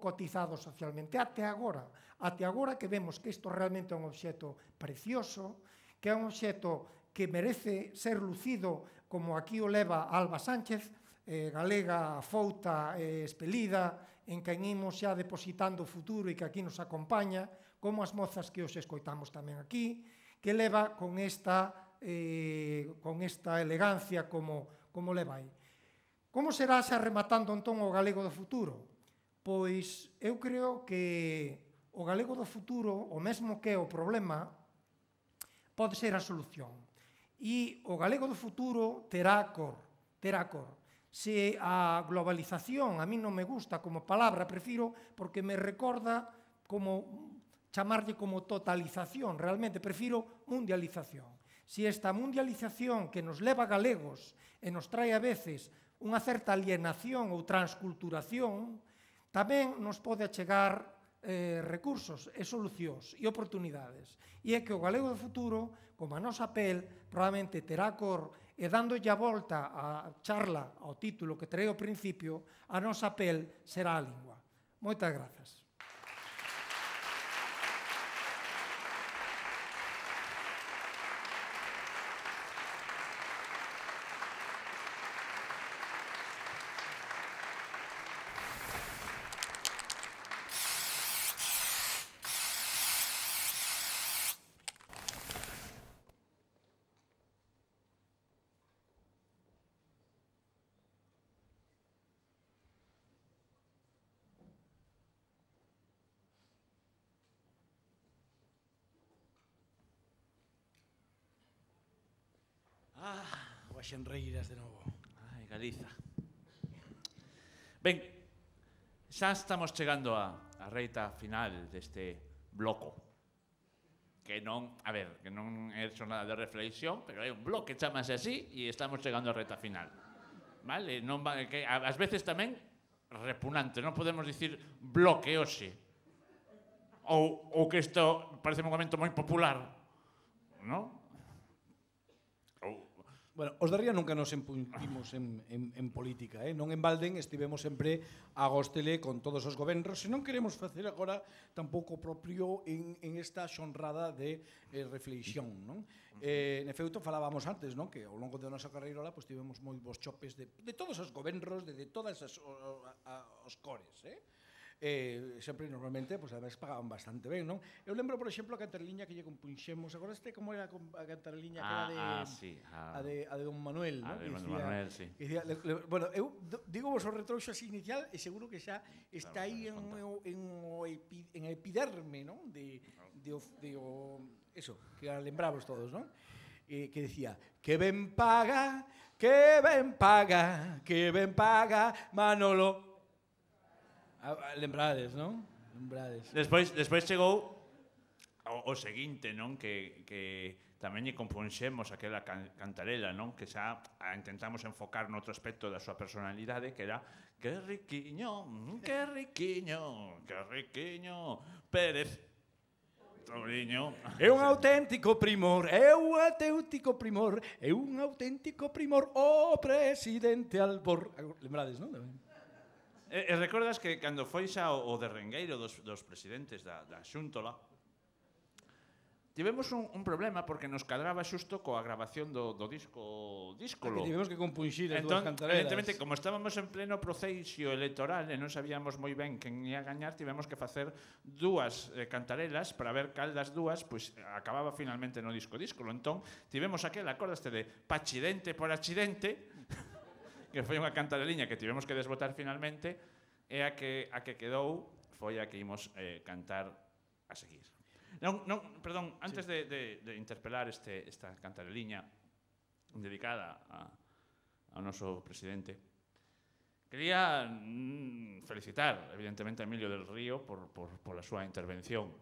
cotizado socialmente. Até agora que vemos que isto realmente é un obxecto precioso, que é un obxecto que merece ser lucido como aquí o leva Alba Sánchez, galega fouta e espelida, en quen imos xa depositando o futuro e que aquí nos acompaña, como as mozas que os escoitamos tamén aquí, que leva con esta elegancia como leva aí. Como será xa rematando entón o galego do futuro? Pois eu creo que o galego do futuro, o mesmo que é o problema, pode ser a solución. E o galego do futuro terá cor. Se a globalización a mí non me gusta como palabra, prefiro porque me recorda como chamarlle como totalización, realmente prefiro mundialización. Se esta mundialización que nos leva galegos e nos trae a veces unha certa alienación ou transculturación, tamén nos pode achegar recursos e solucións e oportunidades. E é que o galego do futuro, como a nosa pel, probablemente terá cor e dándolle a volta a charla ao título que trae ao principio, a nosa pel será a lingua. Moitas grazas. O Axenreiras de novo. Ai, Galiza. Ben, xa estamos chegando a reita final deste bloco. Que non, a ver, que non é xornada de reflexión, pero é un bloque, chamase así, e estamos chegando a reita final. Vale? Non va, que ás veces tamén repugnante, non podemos dicir bloque hoxe. Ou que isto parece un momento moi popular, non? Bueno, os de Ría nunca nos empuntimos en política, non en balden estivemos sempre a góstele con todos os gobernos, e non queremos facer agora tampouco propio en esta xonrada de reflexión, non? En efecto, falábamos antes, non? Que ao longo da nosa carreira pues, tivemos moi bons chopes de todos os gobernos, de todas os cores, sempre normalmente, pues, además pagaban bastante ben, non? Eu lembro, por exemplo, a cantareliña que lle compunxemos, agora como era a cantareliña que era de Don Manuel, non? De Don Manuel, sí. Bueno, eu digo vos o retrouxo así inicial e seguro que xa está aí en a epiderme, non? Eso, que a lembramos todos, non? Que decía, que ben paga, Manolo. Lembrades, non? Lembrades. Despois chegou o seguinte, non? Que tamén lle compunxemos aquela cantarela, non? Que xa intentamos enfocar noutro aspecto da súa personalidade, que era que riquiño, Pérez. Touriño. É un auténtico primor, é un auténtico primor, é un auténtico primor, o presidente Albor. Lembrades, non? E recordas que cando foi xa o derrengueiro dos presidentes da Xúntola, tivemos un problema porque nos cadraba xusto coa grabación do disco Díscolo. Que tivemos que compunxir as dúas cantarelas. Evidentemente, como estábamos en pleno proceso electoral e non sabíamos moi ben quen ia gañar, tivemos que facer dúas cantarelas para ver cal das dúas acababa finalmente no disco Díscolo. Entón, tivemos aquel, acordaste de Pachidente por Accidente, que foi unha cantareliña que tivemos que desbotar finalmente, e a que quedou foi a que imos cantar a seguir. Perdón, antes de interpelar esta cantareliña dedicada ao noso presidente, quería felicitar, evidentemente, a Emilio del Río por a súa intervención.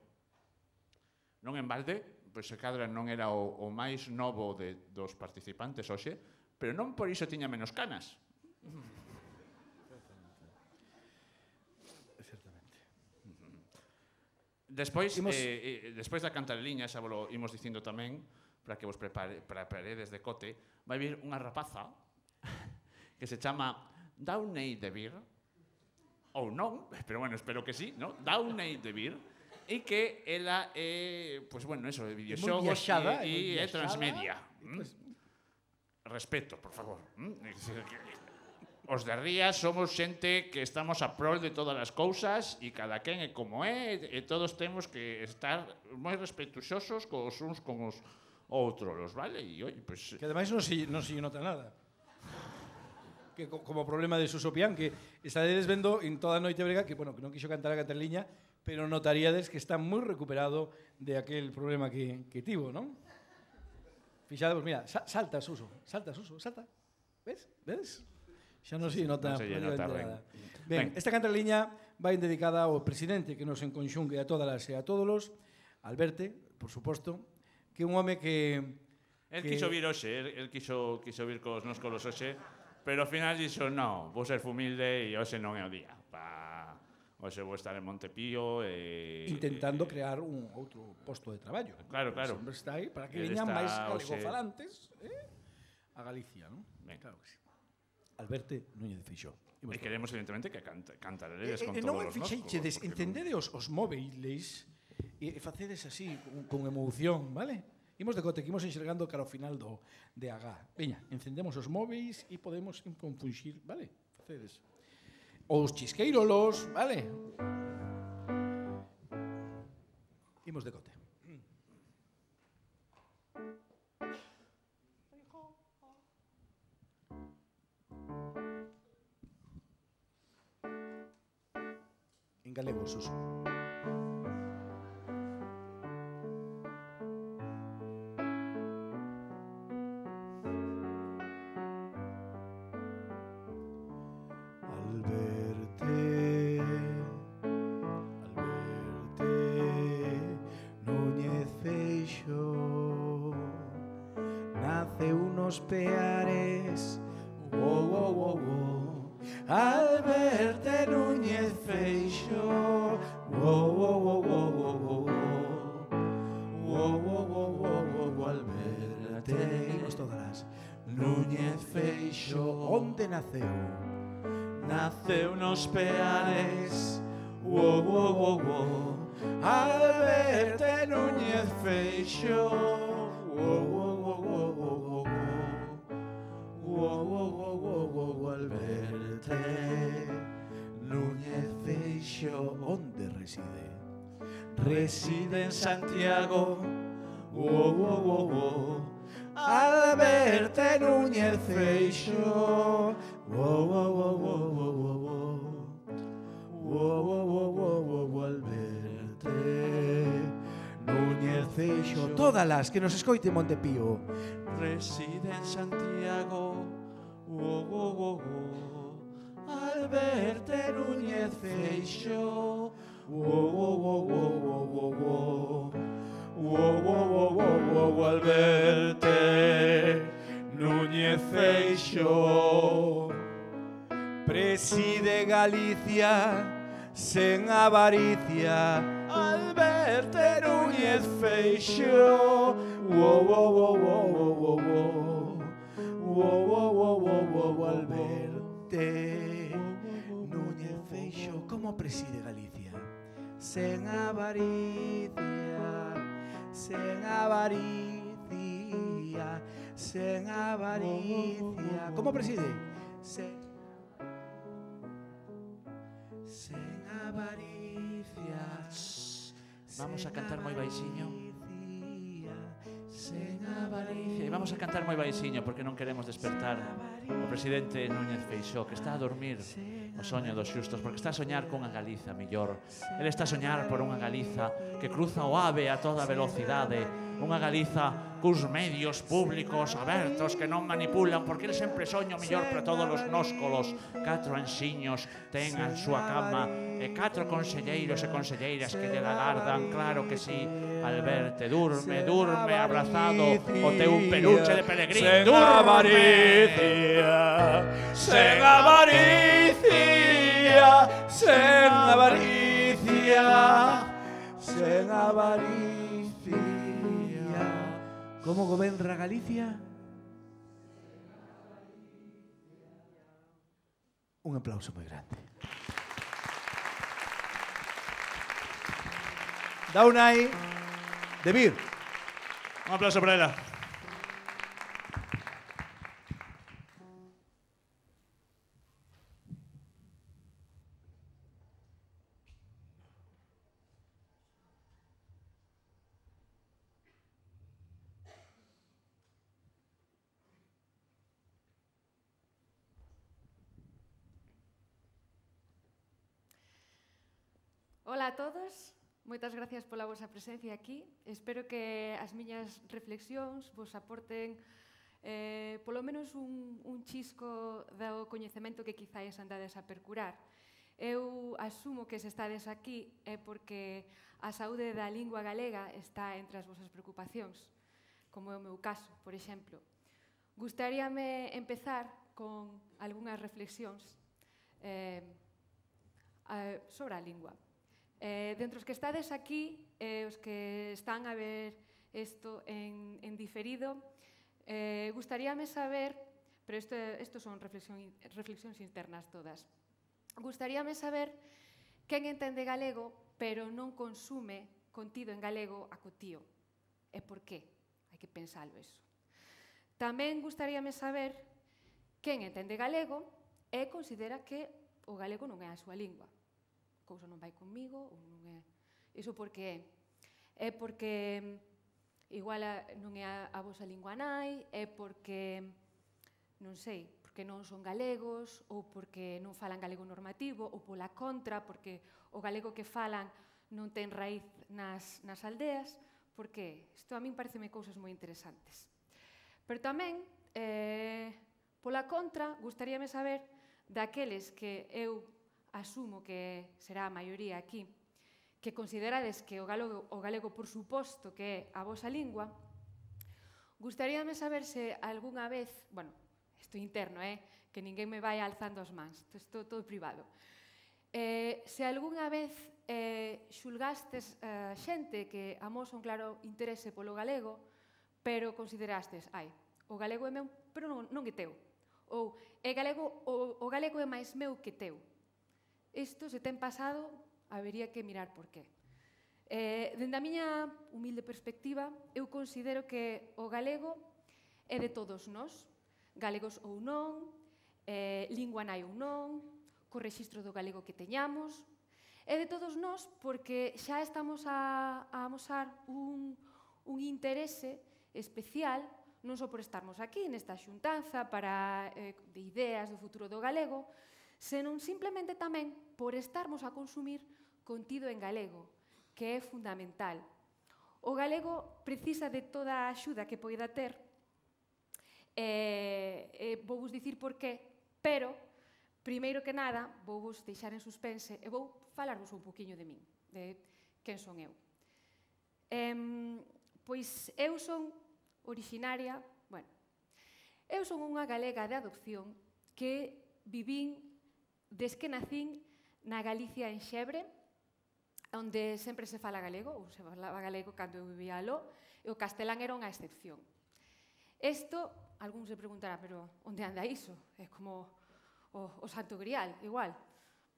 Non en balde, pois se cadra non era o máis novo dos participantes hoxe, pero non por iso tiña menos canas. Despois da cantareliña, xa vos imos dicindo tamén, para que vos preparedes de cote, vai vir unha rapaza que se chama Downey de Vir, ou non, pero bueno, espero que sí, ¿no? Downey de Vir, e que ela é, pois bueno, eso, de videoxogos e é transmedia. Respeto, por favor. Os de Rías somos xente que estamos a prol de todas as cousas e cada quen é como é e todos temos que estar moi respetuosos cos uns con os outros, vale? E, oi, pues... Que ademais non se nota nada. Que como problema de Suso Pián, que estadedes vendo en toda a noite brega, que, bueno, que non quixo cantar a cantareliña, pero notaríades que está moi recuperado de aquel problema que tivo, non? Fixadevos, mira, salta Suso, salta. Ves? Xa non se nota nada. Ben, esta cantareliña vai dedicada ao presidente que nos enconxungue a todas e a todos, Alberte, por suposto, que é un home que... El quixo vir hoxe, el quixo vir cos nos colos hoxe, pero ao final dixo, non, vou ser humilde e hoxe non é o día. Hoxe vou estar en Montepío e... Intentando crear un outro posto de traballo. Claro. O hombre está aí para que veñan máis galegofalantes a Galicia, non? Claro que sí. Alberte Núñez de Feixóo. E queremos, evidentemente, que cantaredes con todos os noscos. Encendede os móviles e facedes así, con emoción, vale? Imos de cote, que imos enxergando cara ao final de Agá. Veña, encendemos os móviles e podemos compunxir, vale? Facedes. Os chisqueirolos, vale? Imos de cote. En galego, Suso. Núñez Feixóo, nace unos Peares, Alberte Núñez Feixóo, Alberte. Imos todas. Núñez Feixóo, onde naceu? Naceu nos Peares, Alberte Núñez Feixóo, Alberte Núñez Feixóo, onde reside? Reside en Santiago, Alberte Núñez Feixóo, Alberte Núñez Feixóo. Todas las que nos escoite Montepío. Reside en Santiago, Alberte Núñez Feixóo, Alberte Núñez Feixóo. Preside Galicia sen avaricia, Alberte verte, Núñez Feixóo. Al verte, Núñez Feixóo. Como preside Galicia? Sen avaricia, sen avaricia, sen avaricia. Como preside? Sen avaricia. Vamos a cantar moi baixiño. Sen avaricia. E vamos a cantar moi baixiño porque non queremos despertar o presidente Núñez Feixóo, que está a dormir o soño dos xustos, porque está a soñar cunha Galiza millor. Ele está a soñar por unha Galiza que cruza o ave a toda velocidade, unha Galiza cus medios públicos abertos que non manipulan, porque ele sempre soña o millor para todos os nóscolos. 4 anxiños ten a súa cama e 4 conselleiros e conselleiras que lle agardan, claro que sí. Al verte, durme, durme abrazado o teu peluche de pelegrín, durme. Sen avaricia, sen avaricia, sen avaricia. Como goberna Galicia? Un aplauso moi grande. Daunai de Vir. Un aplauso para ela. Ola a todos. Moitas gracias pola vosa presencia aquí. Espero que as miñas reflexións vos aporten polo menos un chisco do coñecemento que quizáis andades a percurar. Eu asumo que se estades aquí é porque a saúde da lingua galega está entre as vosas preocupacións, como é o meu caso, por exemplo. Gustaríame empezar con algunhas reflexións sobre a lingua. Dentro os que estades aquí, os que están a ver isto en diferido, gustaríame saber, pero isto son reflexións internas todas, gustaríame saber quen entende galego, pero non consume contido en galego acotío. E por qué? Hai que pensalo eso. Tamén gustaríame saber quen entende galego e considera que o galego non é a súa lingua. Cousa non vai comigo, ou non é... Iso por que é? É porque igual non é a vosa lingua nai, é porque, non sei, porque non son galegos, ou porque non falan galego normativo, ou pola contra, porque o galego que falan non ten raíz nas aldeas, porque isto a min pareceme cousas moi interesantes. Pero tamén, pola contra, gustaríame saber daqueles que eu asumo que será a maioría aquí, que considerades que o galego, por suposto, que é a vosa lingua, gustaríame saber se algunha vez, bueno, isto interno, que ninguén me vai alzando as mans, isto todo privado, se algunha vez xulgastes xente que amosa un claro interese polo galego, pero considerastes, o galego é meu, pero non é teu, ou o galego é máis meu que teu. Isto, se ten pasado, habería que mirar por qué. Dende a miña humilde perspectiva, eu considero que o galego é de todos nós, galegos ou non, lingua nai ou non, co rexistro do galego que teñamos, é de todos nós porque xa estamos a amosar un interese especial, non só por estarmos aquí nesta xuntanza de ideas do futuro do galego, senón simplemente tamén por estarmos a consumir contido en galego, que é fundamental. O galego precisa de toda a axuda que poida ter, vou vos dicir por qué, pero, primeiro que nada, vou vos deixar en suspense e vou falarvos un poquinho de min, de quen son eu. Pois eu son originaria, eu son unha galega de adopción que vivín des que nacín na Galicia en Xebre onde sempre se fala galego, ou se falaba galego cando eu vivía aló, e o castelán era unha excepción. Isto, algún se preguntará, pero onde anda iso? É como o Santo Grial, igual.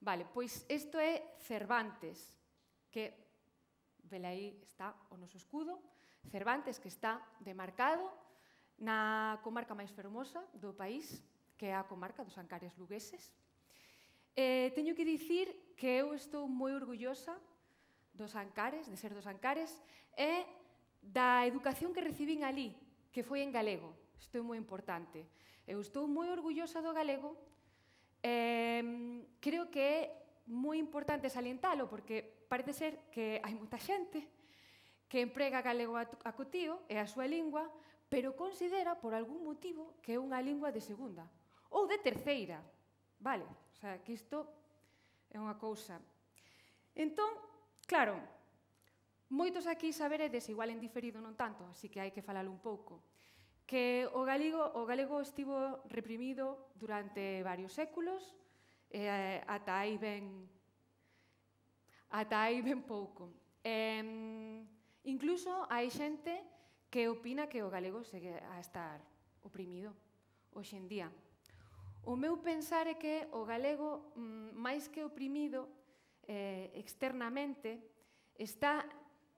Vale, pois isto é Cervantes, que, vele aí está o noso escudo, Cervantes, que está demarcado na comarca máis fermosa do país, que é a comarca dos Ancares lugueses. Teño que dicir que eu estou moi orgullosa dos Ancares, de ser dos Ancares, e da educación que recibín ali, que foi en galego. Isto é moi importante. Eu estou moi orgullosa do galego. Creo que é moi importante salientalo, porque parece ser que hai moita xente que emprega galego a cotío, é a súa lingua, pero considera, por algún motivo, que é unha lingua de segunda ou de terceira. Vale? O sea, que isto é unha cousa. Entón, claro, moitos aquí saberedes, igual en diferido non tanto, así que hai que falalo un pouco, que o galego estivo reprimido durante varios séculos, ata aí ben pouco. Incluso hai xente que opina que o galego segue a estar oprimido hoxe en día. O meu pensar é que o galego, máis que oprimido externamente, está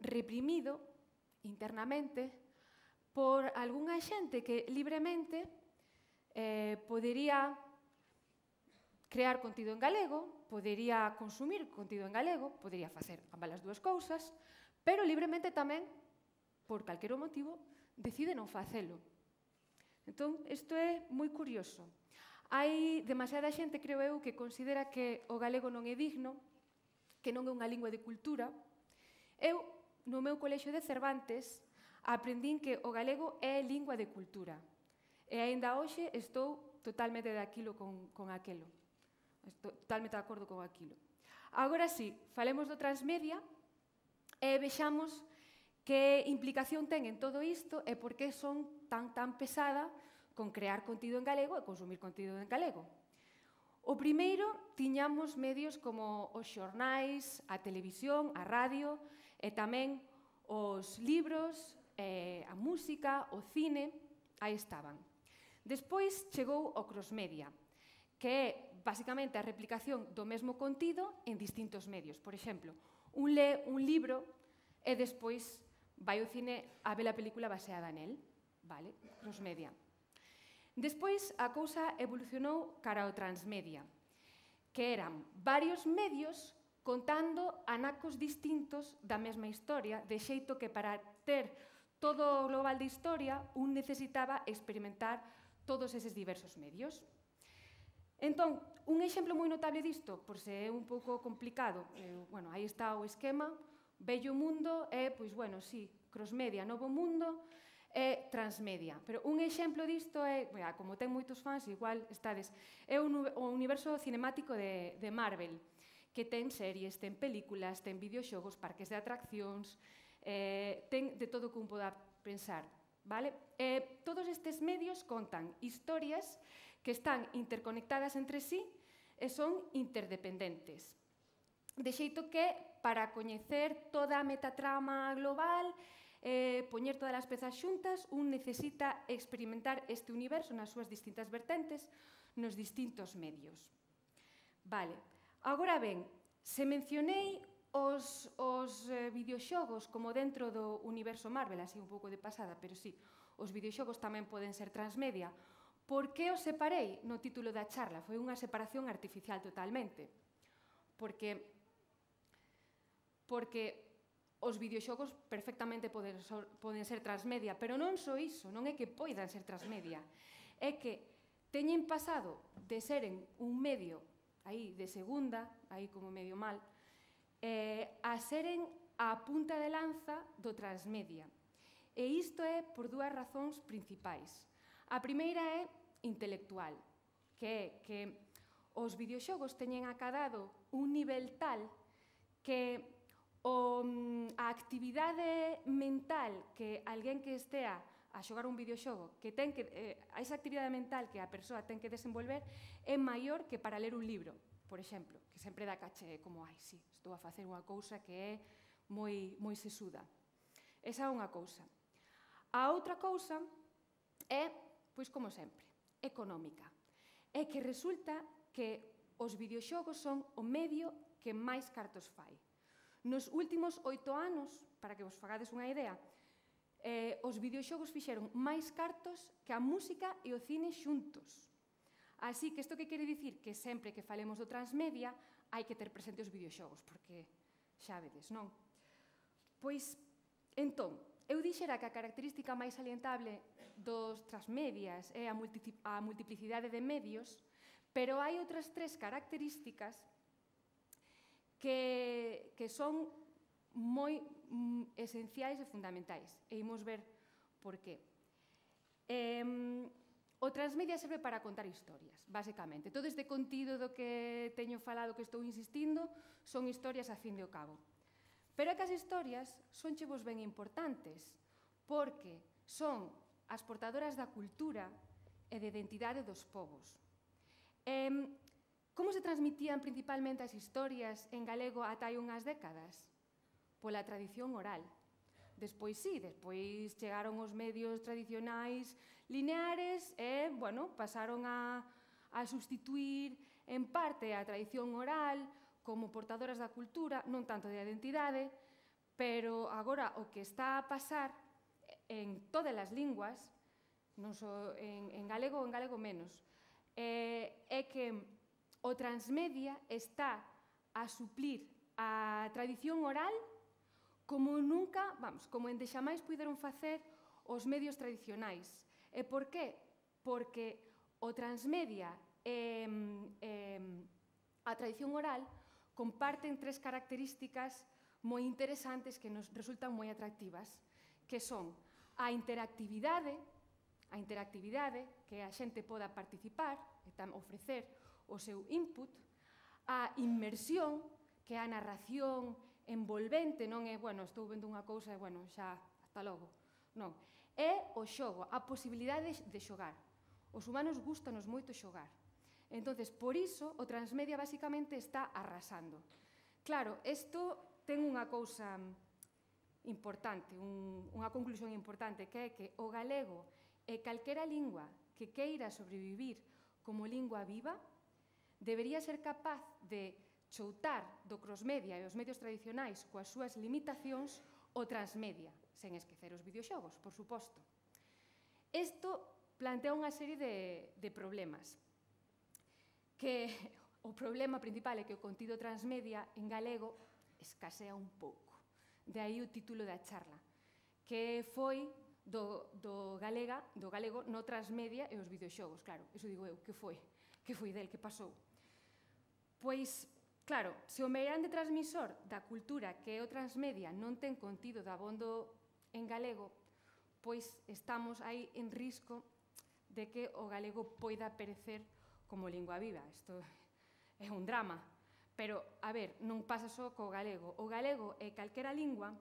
reprimido internamente por algunha xente que libremente podería crear contido en galego, podería consumir contido en galego, podería facer ambas as dúas cousas, pero libremente tamén, por calquero motivo, decide non facelo. Entón, isto é moi curioso. Hai demasiada xente, creo eu, que considera que o galego non é digno, que non é unha lingua de cultura. Eu, no meu colexio de Cervantes, aprendín que o galego é lingua de cultura. E aínda hoxe estou totalmente de aquilo con aquelo. Estou totalmente de acordo con aquilo. Agora sí, falemos do transmedia e vexamos que implicación ten en todo isto e por que son tan pesada con crear contido en galego e consumir contido en galego. O primeiro, tiñamos medios como os xornais, a televisión, a radio e tamén os libros, a música, o cine, aí estaban. Despois chegou o crossmedia, que é basicamente a replicación do mesmo contido en distintos medios. Por exemplo, un lee un libro e despois vai ao cine a ver a película baseada nel. Vale? Crossmedia. Despois, a cousa evolucionou cara ao transmedia, que eran varios medios contando anacos distintos da mesma historia, de xeito que para ter todo o global de historia, un necesitaba experimentar todos eses diversos medios. Entón, un exemplo moi notable disto, por se é un pouco complicado, bueno, aí está o esquema, vello mundo é, pois, bueno, sí, crossmedia, novo mundo, é transmedia. Pero un exemplo disto é, como ten moitos fans, igual estades, é o universo cinemático de Marvel, que ten series, ten películas, ten videoxogos, parques de atraccións, ten de todo o que un poda pensar. Todos estes medios contan historias que están interconectadas entre sí e son interdependentes. De xeito que, para coñecer toda a metatrama global, poñer todas as pezas xuntas, un necesita experimentar este universo nas súas distintas vertentes, nos distintos medios. Vale, agora ben, se mencionei os videoxogos como dentro do universo Marvel, así un pouco de pasada, pero sí, os videoxogos tamén poden ser transmedia. Por que os separei no título da charla? Foi unha separación artificial totalmente. Porque os videoxogos perfectamente poden ser transmedia, pero non só iso, non é que poidan ser transmedia, é que teñen pasado de seren un medio aí de segunda, aí como medio mal, a seren a punta de lanza do transmedia. E isto é por dúas razóns principais. A primeira é intelectual, que é que os videoxogos teñen acadado un nivel tal que a actividade mental que alguén que estea a xogar un videoxogo, que a esa actividade mental que a persoa ten que desenvolver é maior que para ler un libro. por exemplo, que sempre dá caché como, ai, sí, estou a facer unha cousa que é moi sesuda. Esa é unha cousa. A outra cousa é, pois como sempre, económica. É que resulta que os videoxogos son o medio que máis cartos fai. Nos últimos 8 anos, para que vos fagades unha idea, os videoxogos fixeron máis cartos que a música e o cine xuntos. Así que isto que quere dicir que sempre que falemos do transmedia hai que ter presente os videoxogos, porque xa vedes, non? Pois, entón, eu dixera que a característica máis salientable dos transmedias é a multiplicidade de medios, pero hai outras 3 características que son moi esenciais e fundamentais. E imos ver por qué. O transmedia serve para contar historias, basicamente. Todo este contido do que teño falado, que estou insistindo, son historias a fin de ao cabo. Pero é que as historias son chevos ben importantes, porque son as portadoras da cultura e de identidade dos povos. Como se transmitían principalmente as historias en galego ata hai unhas décadas? Pola tradición oral. Despois sí, despois chegaron os medios tradicionais lineares e, bueno, pasaron a sustituir en parte a tradición oral como portadoras da cultura, non tanto da identidade, pero agora o que está a pasar en todas as linguas, non só en galego menos, é que o transmedia está a suplir a tradición oral como nunca, vamos, como endexamais puideron facer os medios tradicionais. E por qué? Porque o transmedia e a tradición oral comparten 3 características moi interesantes que nos resultan moi atractivas, que son a interactividade, que a xente poda participar e ofrecer o seu input, a inmersión, que é a narración envolvente, non é, bueno, estou vendo unha cousa e, bueno, xa, hasta logo. Non. É o xogo, a posibilidade de xogar. Os humanos gustanos moito xogar. Entonces, por iso, o transmedia basicamente está arrasando. Claro, isto ten unha cousa importante, unha conclusión importante, que é que o galego e calquera lingua que queira sobrevivir como lingua viva debería ser capaz de choutar do crossmedia e os medios tradicionais coas súas limitacións o transmedia, sen esquecer os videoxogos, por suposto. Isto plantea unha serie de problemas, que o problema principal é que o contido transmedia en galego escasea un pouco. De aí o título da charla, que foi do galego no transmedia e os videoxogos. Claro, iso digo eu, que foi del, que pasou? Pois, claro, se o meirande transmisor da cultura que é o transmedia non ten contido dabondo en galego, pois estamos aí en risco de que o galego poida perecer como lingua viva. Isto é un drama. Pero, a ver, non pasa só co galego. O galego e calquera lingua,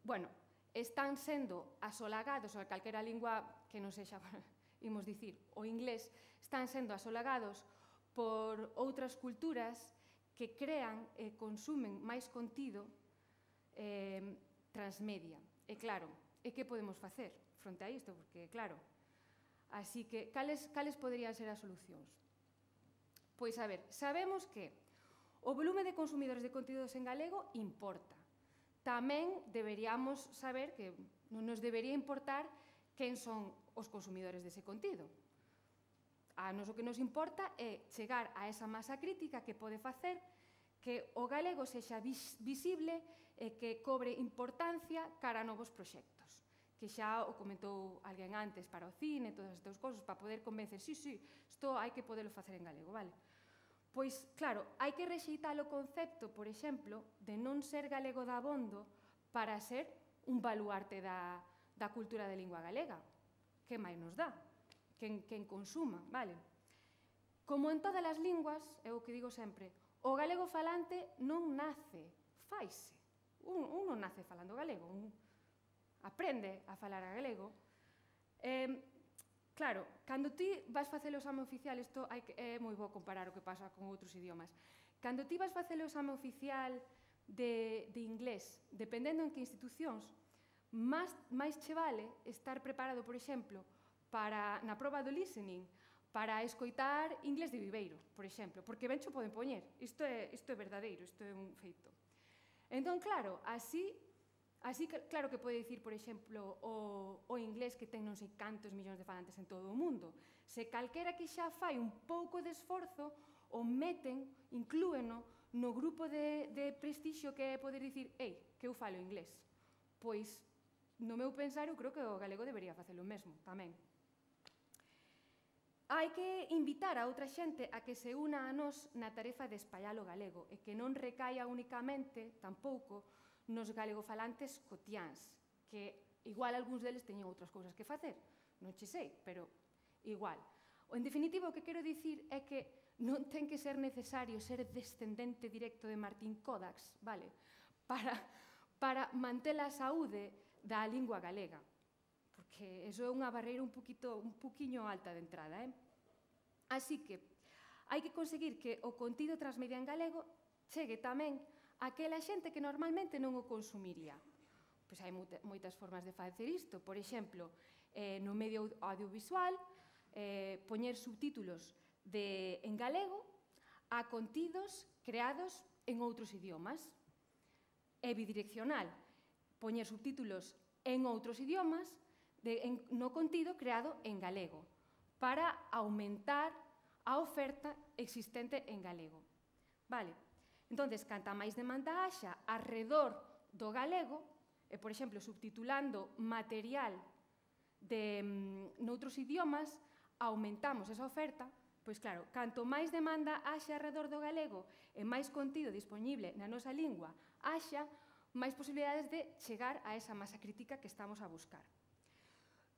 bueno, están sendo asolagados, ou calquera lingua que non sexa, imos dicir, o inglés, están sendo asolagados por outras culturas que crean e consumen máis contido transmedia. E claro, e que podemos facer fronte a isto? Porque, claro, así que, cales poderían ser as solucións? Pois, a ver, sabemos que o volume de consumidores de contidos en galego importa. Tamén deberíamos saber que non nos debería importar quen son os consumidores dese contido. A nos o que nos importa é chegar a esa masa crítica que pode facer que o galego sexa visible e que cobre importancia cara a novos proxectos. Que xa o comentou alguén antes para o cine, todas estas cousas, para poder convencer, sí, isto hai que podelo facer en galego, vale? Pois, claro, hai que rexeitar o concepto, por exemplo, de non ser galego dabondo para ser un baluarte da cultura de lingua galega. Que máis nos dá? Quen consuma, vale? Como en todas as linguas, é o que digo sempre, o galego falante non nace, faise. Un non nace falando galego, un aprende a falar a galego. Claro, cando ti vas facer o exame oficial, isto é moi bo comparar o que pasa con outros idiomas. Cando ti vas facer o exame oficial de inglés, dependendo en que institucións, máis che vale estar preparado, por exemplo, na proba do listening, para escoitar inglés de viveiro, por exemplo, porque ben xo poden poñer. Isto é verdadeiro, isto é un feito. Entón, claro, así claro que pode dicir, por exemplo, o inglés que ten non sei cantos millóns de falantes en todo o mundo. Se calquera que xa fai un pouco de esforzo, o meten, inclúeno, no grupo de prestixio que é poder dicir, que eu falo inglés. Pois, no meu pensar, eu creo que o galego debería facelo mesmo, tamén. Hai que invitar a outra xente a que se una a nós na tarefa de espallar o galego e que non recaia únicamente, tampouco, nos galegofalantes cotiáns, que igual algúns deles teñen outras cousas que facer, non che sei, pero igual. En definitiva, o que quero dicir é que non ten que ser necesario ser descendente directo de Martín Codax, vale? Para manter a saúde da lingua galega, porque eso é unha barreira un poquinho alta de entrada, Así que hai que conseguir que o contido transmedia en galego chegue tamén aquela xente que normalmente non o consumiría. Pois hai moitas formas de facer isto. Por exemplo, no medio audiovisual, poñer subtítulos en galego a contidos creados en outros idiomas. É bidireccional, poñer subtítulos en outros idiomas no contido creado en galego para aumentar a oferta existente en galego. Vale? Entonces, canta máis demanda haxa arredor do galego, por exemplo, subtitulando material noutros idiomas, aumentamos esa oferta, pois claro, canto máis demanda haxa arredor do galego e máis contido disponible na nosa lingua haxa, máis posibilidades de chegar a esa masa crítica que estamos a buscar.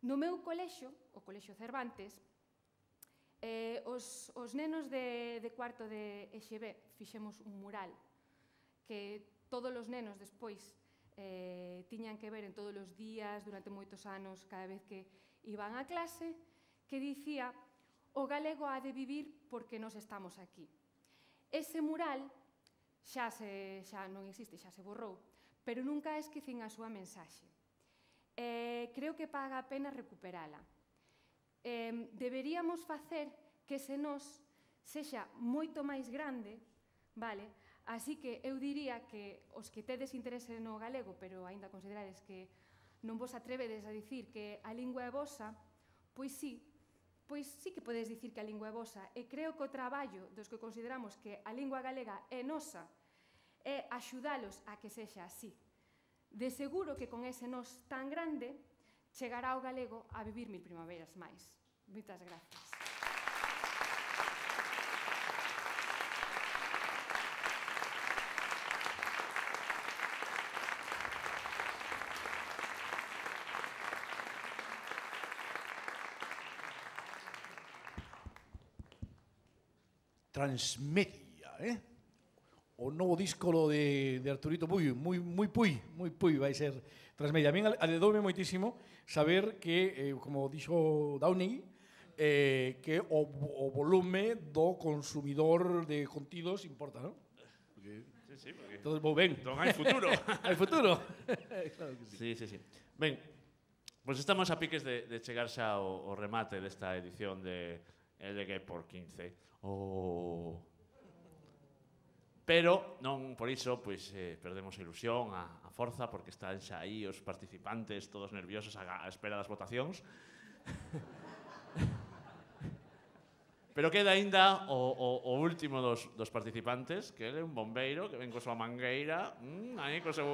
No meu colexio, o Colexio Cervantes, os nenos de cuarto de EXB fixemos un mural que todos os nenos despois tiñan que ver en todos os días, durante moitos anos, cada vez que iban a clase, que dicía o galego ha de vivir porque nos estamos aquí. Ese mural xa non existe, xa se borrou, pero nunca esquecín a súa mensaxe. Creo que paga a pena recuperala. Deberíamos facer que ese nós sexa moito máis grande, vale? Así que eu diría que os que tedes interese no galego, pero aínda considerades que non vos atrevedes a dicir que a lingua é vosa, pois sí que podedes dicir que a lingua é vosa, e creo que o traballo dos que consideramos que a lingua galega é nosa é axudalos a que sexa así. De seguro que con ese nós tan grande chegará o galego a vivir 1000 primaveras máis. Moitas gracias. Transmedia, o novo disco de Arturito Puy, moi Puy vai ser Transmedia. A min aledoume moitísimo saber que, como dixo Downey, que o volume do consumidor de contidos importa, non? Sí, porque... Todo vou ben. Entón hai futuro. Hai futuro. Claro que sí. Sí. Ben, pois estamos a piques de chegar xa ao remate desta edición de LG por 15. Pero non por iso perdemos a ilusión, a forza, porque están xa aí os participantes todos nerviosos á espera das votacións. Pero queda aínda o último dos participantes, que é un bombeiro que ven co súa mangueira, aí co seu...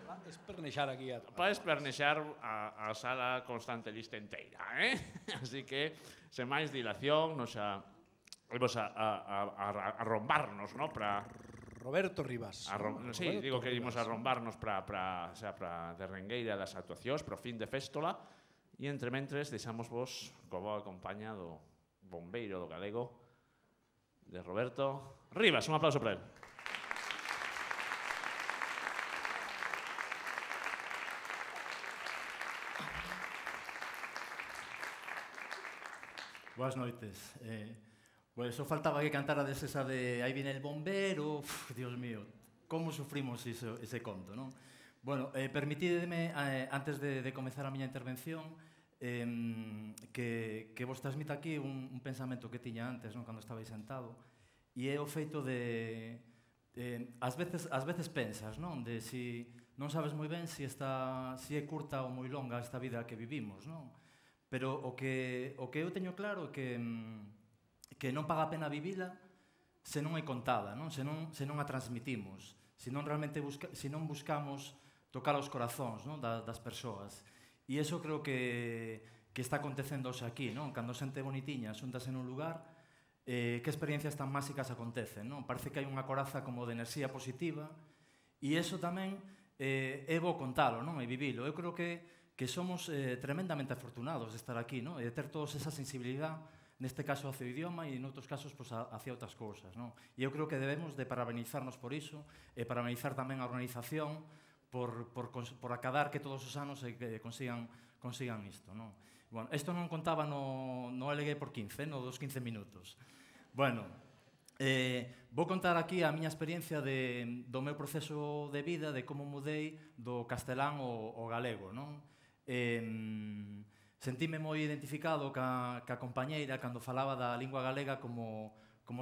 Para espernexar aquí. Para espernexar a sala Constante Lista inteira, Así que, sen máis dilación, nos vamos a arrombarnos, ¿no? Roberto Rivas. Sí, digo que íbamos a arrombarnos para derrengueira das actuacións, para o fin de féstola, e entre mentres deixamos vos co boa compañía do bombeiro do galego, de Roberto Rivas. Un aplauso para él. Boas noites. Pues só faltaba que cantara esa de Aí viene el bombero, Dios mío, como sufrimos ese conto, non? Bueno, permitideme, antes de comezar a miña intervención, que vos transmita aquí un pensamento que tiña antes, non, cando estabais sentado, e é o feito de... Ás veces pensas, non? De si non sabes moi ben se é curta ou moi longa esta vida que vivimos, non? Pero o que eu teño claro é que non paga a pena vivila se non é contada, non? Se non a transmitimos, se non buscamos tocar os corazóns, non? Das persoas. E iso creo que está acontecendo hoxe aquí, non? Cando xente bonitiña xuntase nun lugar, que experiencias tan máxicas acontecen, non? Parece que hai unha coraza como de enerxía positiva e iso tamén é bo contalo, non? E vivilo. Eu creo que somos tremendamente afortunados de estar aquí, non? E de ter todos esa sensibilidade, neste caso hacia o idioma e noutros casos hacia outras cousas, non? E eu creo que debemos de parabenizarnos por iso e parabenizar tamén a organización por acadar que todos os anos consigan isto, non? Bueno, isto non contaba no LG por 15, no dos 15 minutos. Bueno, vou contar aquí a miña experiencia do meu proceso de vida, de como mudei do castelán ao galego, non? Sentime moi identificado ca compañeira cando falaba da lingua galega como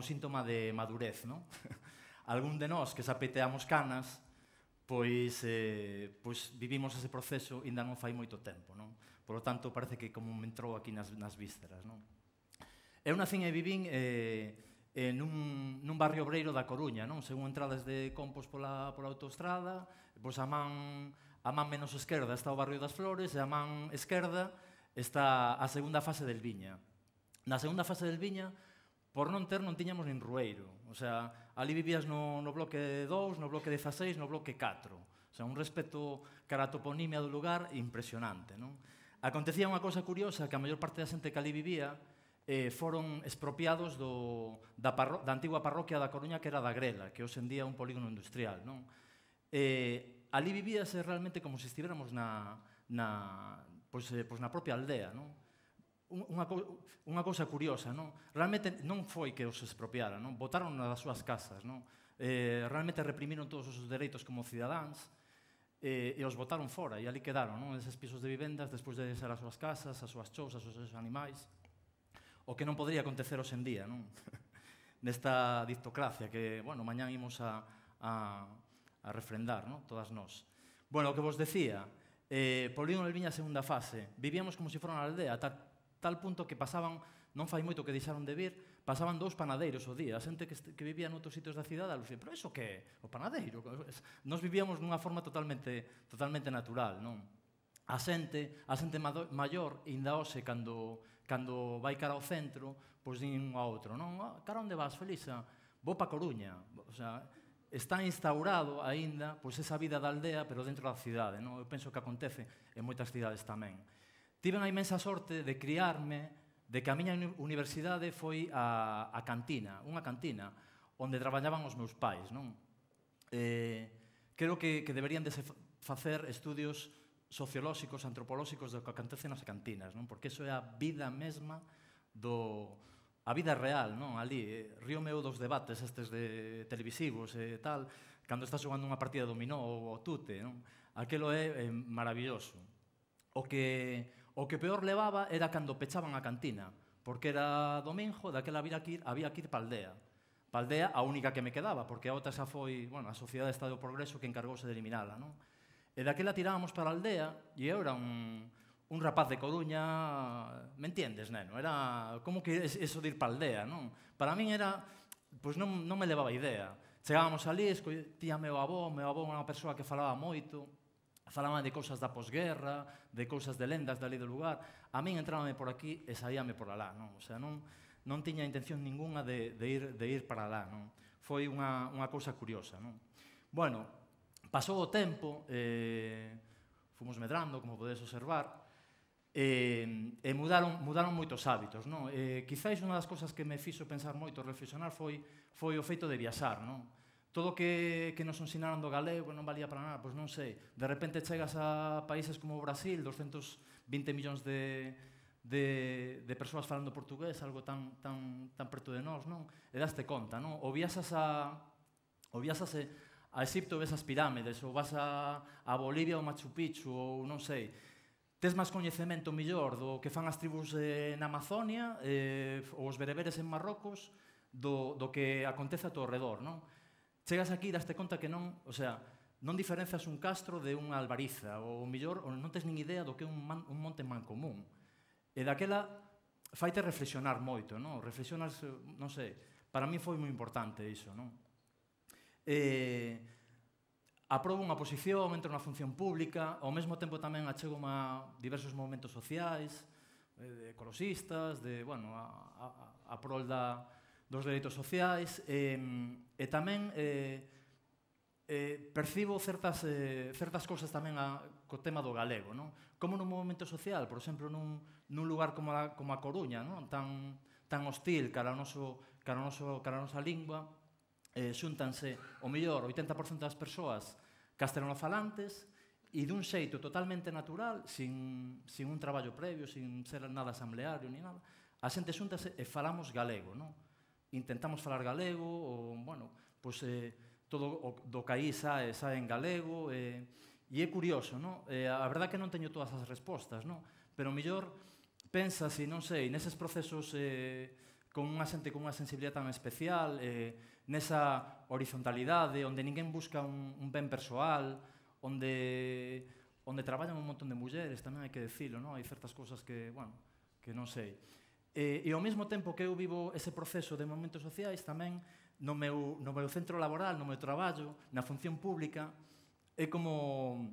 síntoma de madurez, non? Algún de nós que sapeteamos canas, pois vivimos ese proceso e ainda non fai moito tempo, non? Por lo tanto, parece que como me entrou aquí nas vísceras, non? Eu nacín e vivín nun barrio obreiro da Coruña, non? Según entradas de Compos pola autoestrada, pois a man menos esquerda está o barrio das Flores e a man esquerda está a segunda fase del Viña. Na segunda fase del Viña, por non tiñamos nin rueiro. O sea, ali vivías no bloque 2, no bloque 16, no bloque 4. O sea, un respeto cara a toponimia do lugar impresionante, non? Acontecía unha cousa curiosa, que a maior parte da xente que ali vivía foron expropiados da antigua parroquia da Coruña, que era da Grela, que hoxe en día é un polígono industrial, non? Ali vivíase realmente como se estiveramos na propia aldea, non? Unha cousa curiosa, non? Realmente non foi que os expropiaran, non? Botaron das súas casas, non? Realmente reprimiron todos os dereitos como cidadáns e os botaron fora e ali quedaron, non? Eses pisos de vivendas despois de deixar as súas casas, as súas chousas, os seus animais. O que non podría acontecer hoxe en día, non? Nesta dictocracia que, bueno, mañán imos a refrendar, non? Todas nós. Bueno, o que vos decía, Polígono del Viña segunda fase, vivíamos como se fora na aldea, tal punto que pasaban, non fai moito que deixaron de vir, pasaban 2 panadeiros ao día. A xente que vivía noutros sitios da cidade, pero iso que é? O panadeiro? Nos vivíamos dunha forma totalmente natural, non? A xente maior, ainda hoxe, cando vai cara ao centro, pois din un a outro, non? Cara onde vas, Felisa? Vou pa Coruña. O sea, está instaurado aínda pois esa vida da aldea, pero dentro da cidade, non? Eu penso que acontece en moitas cidades tamén. Tiven a inmensa sorte de criarme, de que a miña universidade foi a cantina, unha cantina, onde traballaban os meus pais, non? Creo que deberían de facer estudios sociolóxicos, antropolóxicos do que acontece nas cantinas, non? Porque iso é a vida mesma a vida real, non? Ali, río meu dos debates estes de televisivos e tal, cando estás xogando unha partida de dominó ou tute, non? Aquelo é maravilloso. O que peor levaba era cando pechaban a cantina, porque era domingo, daquela había que ir pa aldea. Pa aldea a única que me quedaba, porque a outra xa foi, bueno, a Sociedade de Estado do Progreso que encargouse de eliminala, non? E daquela tirábamos para a aldea, e eu era un rapaz de Coruña, me entiendes, neno? Era como que eso de ir pa aldea, non? Para min era, pois non me levaba idea. Chegábamos ali, escoitía meu avó era unha persoa que falaba moito, falaban de cousas da posguerra, de cousas de lendas dali do lugar. A min entrábame por aquí e saíame por alá, non? O sea, non tiña intención ninguna de ir para alá, non? Foi unha cousa curiosa, non? Bueno, pasou o tempo, fomos medrando, como podedes observar, e mudaron moitos hábitos, non? Quizáis unha das cousas que me fixo pensar moito, reflexionar, foi o feito de viaxar, non? Todo o que nos ensinaron do galego non valía para nada, pois non sei. De repente chegas a países como o Brasil, 220 millóns de de persoas falando portugués, algo tan preto de nós, non? E daste conta, non? Ou viaxas a Egipto e ves as pirámides, ou vas a Bolivia ou Machu Picchu, ou non sei, tes máis coñecemento millor do que fan as tribus na Amazonia ou os bereberes en Marrocos do que acontece a todo redor, non? Chegas aquí e daste conta que non, o sea, non diferencias un castro de unha albariza, ou millor, ou non tes nin idea do que é un monte mancomún. E daquela faite reflexionar moito, non? Reflexionas, non sei, para mí foi moi importante iso, non? Aprobo unha posición, entro na función pública, ao mesmo tempo tamén achego a diversos movimentos sociais, ecologistas, a prol dos dereitos sociais, e tamén percibo certas cousas tamén co tema do galego, non? Como nun movimento social, por exemplo, nun lugar como a Coruña, non? Tan hostil cara a nosa lingua, xúntanse, o mellor, 80% das persoas castelanofalantes e dun xeito totalmente natural, sin un traballo previo, sin ser nada asambleario ni nada, a xente xúntase e falamos galego, non? Intentamos falar galego, ou, bueno, pois todo do caí sae en galego, e é curioso, non? A verdade que non teño todas as respostas, non? Pero mellor pensas, e non sei, neses procesos con unha xente con unha sensibilidade tan especial, nesa horizontalidade, onde ninguén busca un ben persoal, onde traballan un montón de mulleres, tamén hai que decirlo, non? Hai certas cousas que, bueno, que non sei. E ao mesmo tempo que eu vivo ese proceso de movimentos sociais, tamén no meu centro laboral, no meu traballo, na función pública, é como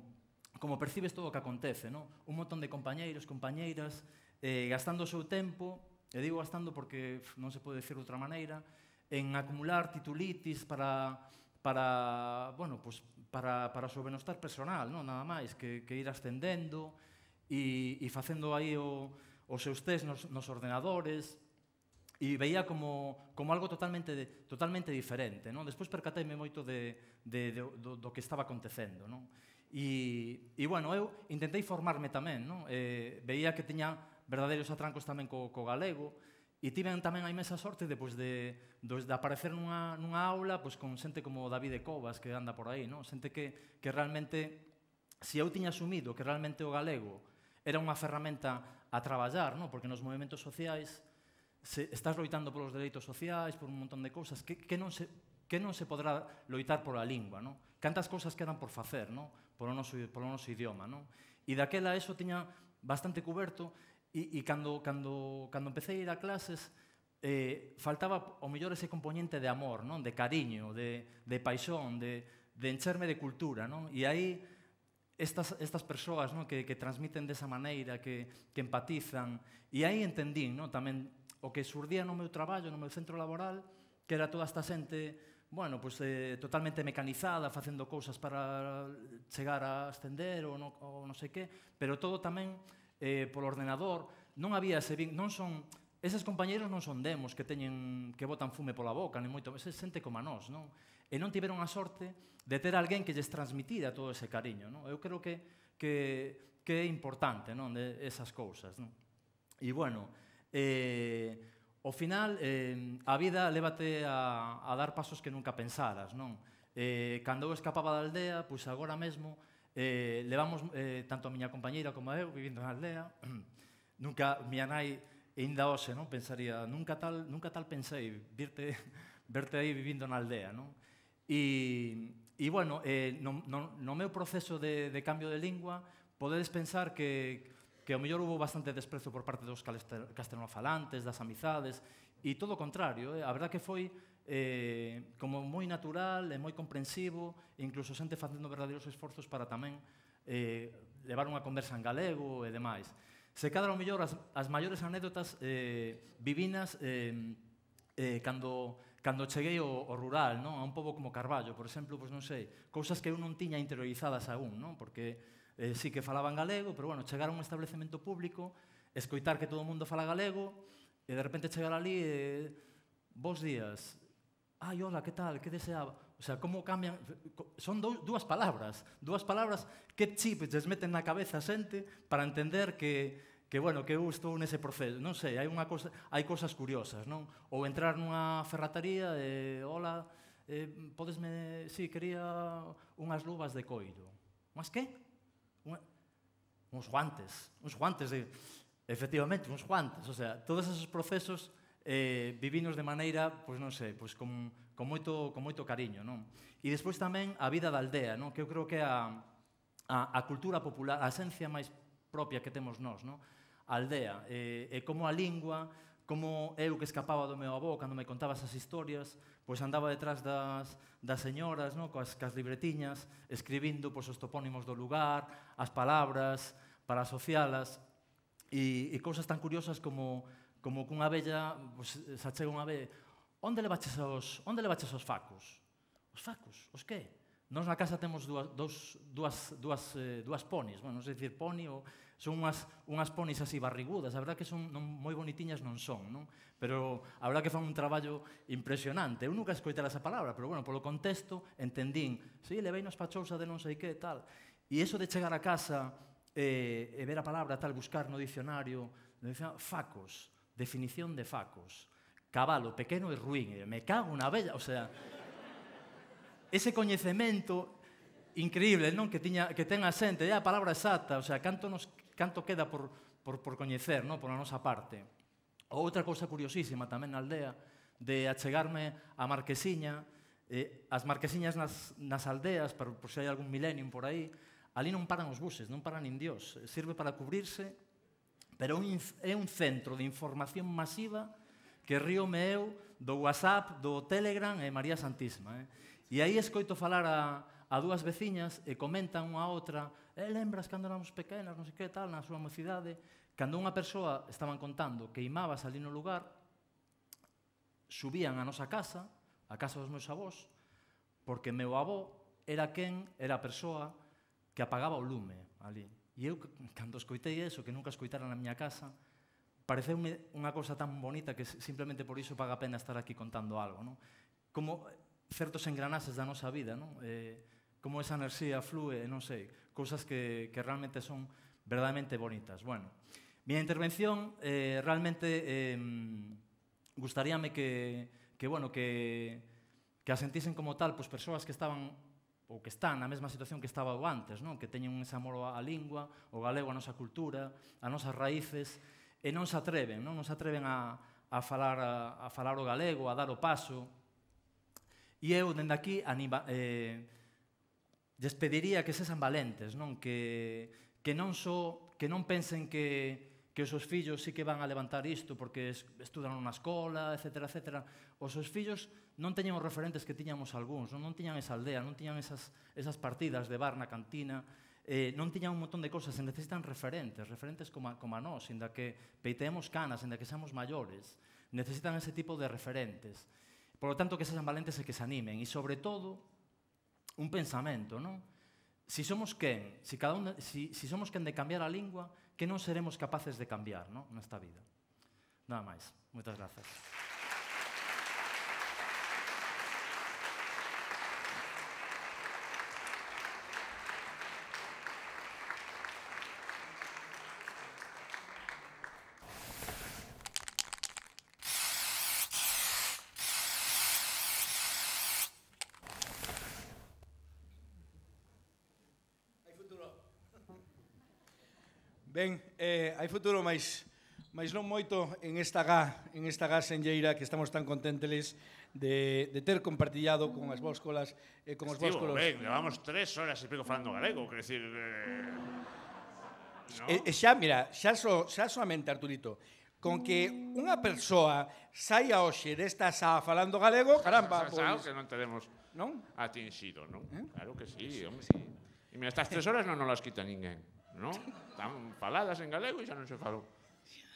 percibes todo o que acontece, non? Un montón de compañeiros, compañeiras, gastando o seu tempo, e digo gastando porque non se pode decir de outra maneira, en acumular titulitis para o seu benestar personal, non? Nada máis que ir ascendendo e facendo aí os seus test nos ordenadores, e veía como algo totalmente diferente, non? Despois percateime moito do que estaba acontecendo, non? E, bueno, eu intentei formarme tamén, non? Veía que tiña verdadeiros atrancos tamén co galego, e tiven tamén a inmensa sorte de aparecer nunha aula con xente como David Cobas, que anda por aí, non? Xente que realmente, se eu tiña asumido que realmente o galego era unha ferramenta a traballar, non? Porque nos movimentos sociais estás loitando polos dereitos sociais, por un montón de cousas que non se podrá loitar pola lingua, non? Cantas cousas quedan por facer, non? Polo noso idioma, non? E daquela eso tiña bastante cuberto, e cando empecé a ir a clases faltaba ao mellor ese componente de amor, non? De cariño, de paixón, de encherme de cultura, non? E aí estas persoas, non? Que transmiten desa maneira, que empatizan, e aí entendín, non? Tamén o que surdía no meu traballo, no meu centro laboral, que era toda esta xente, bueno, pues, totalmente mecanizada, facendo cousas para chegar a ascender ou non sei que, pero todo tamén polo ordenador. Non había ese non son, eses compañeros non son demos que botan fume pola boca, nem moito, esa xente como a nós, non? E non tiveron a sorte de ter alguén que lles transmitira todo ese cariño, non? Eu creo que é importante, non? Esas cousas, non? E, bueno, ao final, a vida lévate a dar pasos que nunca pensaras, non? Cando eu escapaba da aldea, pois agora mesmo levamos, tanto a miña compañeira como eu, vivindo na aldea. Nunca, miña nai, ainda hoxe, non? Pensaría, nunca tal pensei verte aí vivindo na aldea, non? E, bueno, no meu proceso de cambio de lingua, podedes pensar que ao mellor hubo bastante desprezo por parte dos castelanofalantes, das amizades, e todo o contrario, a verdad que foi como moi natural e moi comprensivo, e incluso xente facendo verdadeiros esforzos para tamén levar unha conversa en galego e demais. Se cadra ao mellor as maiores anécdotas vivinas cando cheguei ao rural, non? A un pobo como Carballo, por exemplo, pois non sei, cousas que eu non tiña interiorizadas aún, non? Porque sí que falaban galego, pero, bueno, chegar a un establecemento público, escoitar que todo o mundo fala galego, e de repente chegar ali e... Bos días. Ai, hola, que tal, que deseaba? O sea, como cambian... Son dúas palabras que chip lles meten na cabeza a xente para entender que bueno, que eu estou nese proceso. Non sei, hai cosas curiosas, non? Ou entrar nunha ferratería e, hola, podesme, sí, quería unhas luvas de coiro. Mas que? Uns guantes, efectivamente, uns guantes. O sea, todos esos procesos vivinos de maneira, pois non sei, pois con moito cariño, non? E despois tamén a vida da aldea, non? Que eu creo que é a cultura popular, a esencia máis propia que temos nós, non? A aldea, e como a lingua, como eu que escapaba do meu avó cando me contaba esas historias, pois andaba detrás das señoras, non? Cas libretiñas, escribindo pois, os topónimos do lugar, as palabras, para asocialas, e cousas tan curiosas como cunha vella, pois, se achega unha vez, onde levaches os facos? Os facos? Os que? Nós na casa temos dúas ponis, bueno, non sei dicir poni, son unhas ponis así barrigudas, a verdad que son moi bonitiñas non son, non? Pero a verdad que fan un traballo impresionante. Eu nunca escoitara esa palabra, pero bueno, polo contexto entendín, sí, levei nos pachousa de non sei que, tal. E iso de chegar a casa e ver a palabra, tal, buscar no dicionario, facos, definición de facos, cabalo pequeno e ruín, me cago na vella, o sea, ese coñecemento increíble, non, que ten a xente, a palabra exacta, o sea, canto queda por coñecer, non, por a nosa parte. Outra cousa curiosísima tamén na aldea, de achegarme a Marquesiña, as marquesiñas nas aldeas, por se hai algún millennium por aí, ali non paran os buses, non paran nin Dios, sirve para cubrirse, pero é un centro de información masiva que ríome eu do WhatsApp, do Telegram e María Santísima. E aí escoito falar a dúas veciñas e comentan unha a outra, lembras cando éramos pequenas, non sei que tal, na súa mocidade, cando unha persoa estaban contando que imabas ali no lugar, subían a nosa casa, a casa dos meus avós, porque meu avó era a persoa que apagaba o lume ali. E eu, cando escoitei eso, que nunca escoitara na miña casa, pareceume unha cousa tan bonita que simplemente por iso paga a pena estar aquí contando algo, non? Como certos engranases da nosa vida, non? Como esa enerxía flúe, non sei, cousas que realmente son verdadeiramente bonitas. Bueno, miña intervención realmente gustaríame que a sentisen como tal, pois persoas que estaban ou que están na mesma situación que estaba eu antes, non? Que teñen ese amor á lingua, o galego, a nosa cultura, as nosas raíces, e non se atreven a falar o galego, a dar o paso. E eu, dende aquí, despediría que sesen valentes, non? Que non pensen que os seus fillos sí que van a levantar isto porque estudan na escola, etcétera, etcétera. Os seus fillos non teñen os referentes que tiñamos algúns, non tiñan esa aldea, non tiñan esas partidas de bar na cantina, non tiñan un montón de cosas, se necesitan referentes como a nós, inda que peiteemos canas, inda que seamos maiores, necesitan ese tipo de referentes. Por lo tanto, que sean valentes e que se animen, e sobre todo, un pensamento, non? Si somos quen de cambiar a lingua, que non seremos capaces de cambiar, non? Nesta vida. Nada máis. Moitas grazas. Ben, hai futuro, mas non moito en esta gá senlleira que estamos tan contenteles de ter compartillado con as vóscolas e con os vóscolos. Ben, levamos 3 horas e pico falando galego, quer decir... E xa, mira, xa soamente, Arturito, con que unha persoa saia hoxe desta xa falando galego, caramba, pois... que non teremos atinxido, non? Claro que sí, home. E mira, estas 3 horas non nos las quita ninguén, non? Están faladas en galego e xa non se falou.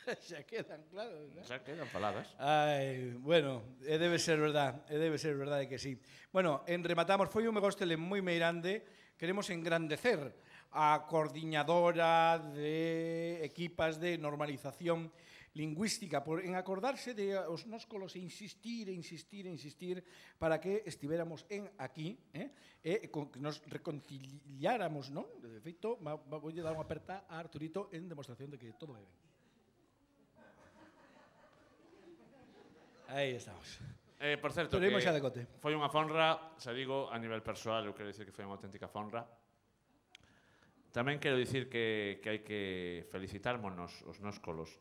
Xa quedan, claro. Xa quedan faladas. Ai, bueno, debe ser verdade que sí. Bueno, rematamos, foi un megóstele moi meirande, queremos engrandecer a coordinadora de equipas de normalización lingüística, en acordarse de os nóscolos e insistir para que estivéramos aquí, e que nos reconciliáramos, non? De feito, vou dar unha aperta a Arturito en demostración de que todo vai ben. Aí estamos. Por certo, que foi unha fonra, xa digo, a nivel persoal, eu quero dicir que foi unha auténtica fonra. Tamén quero dicir que hai que felicitarmonos os nóscolos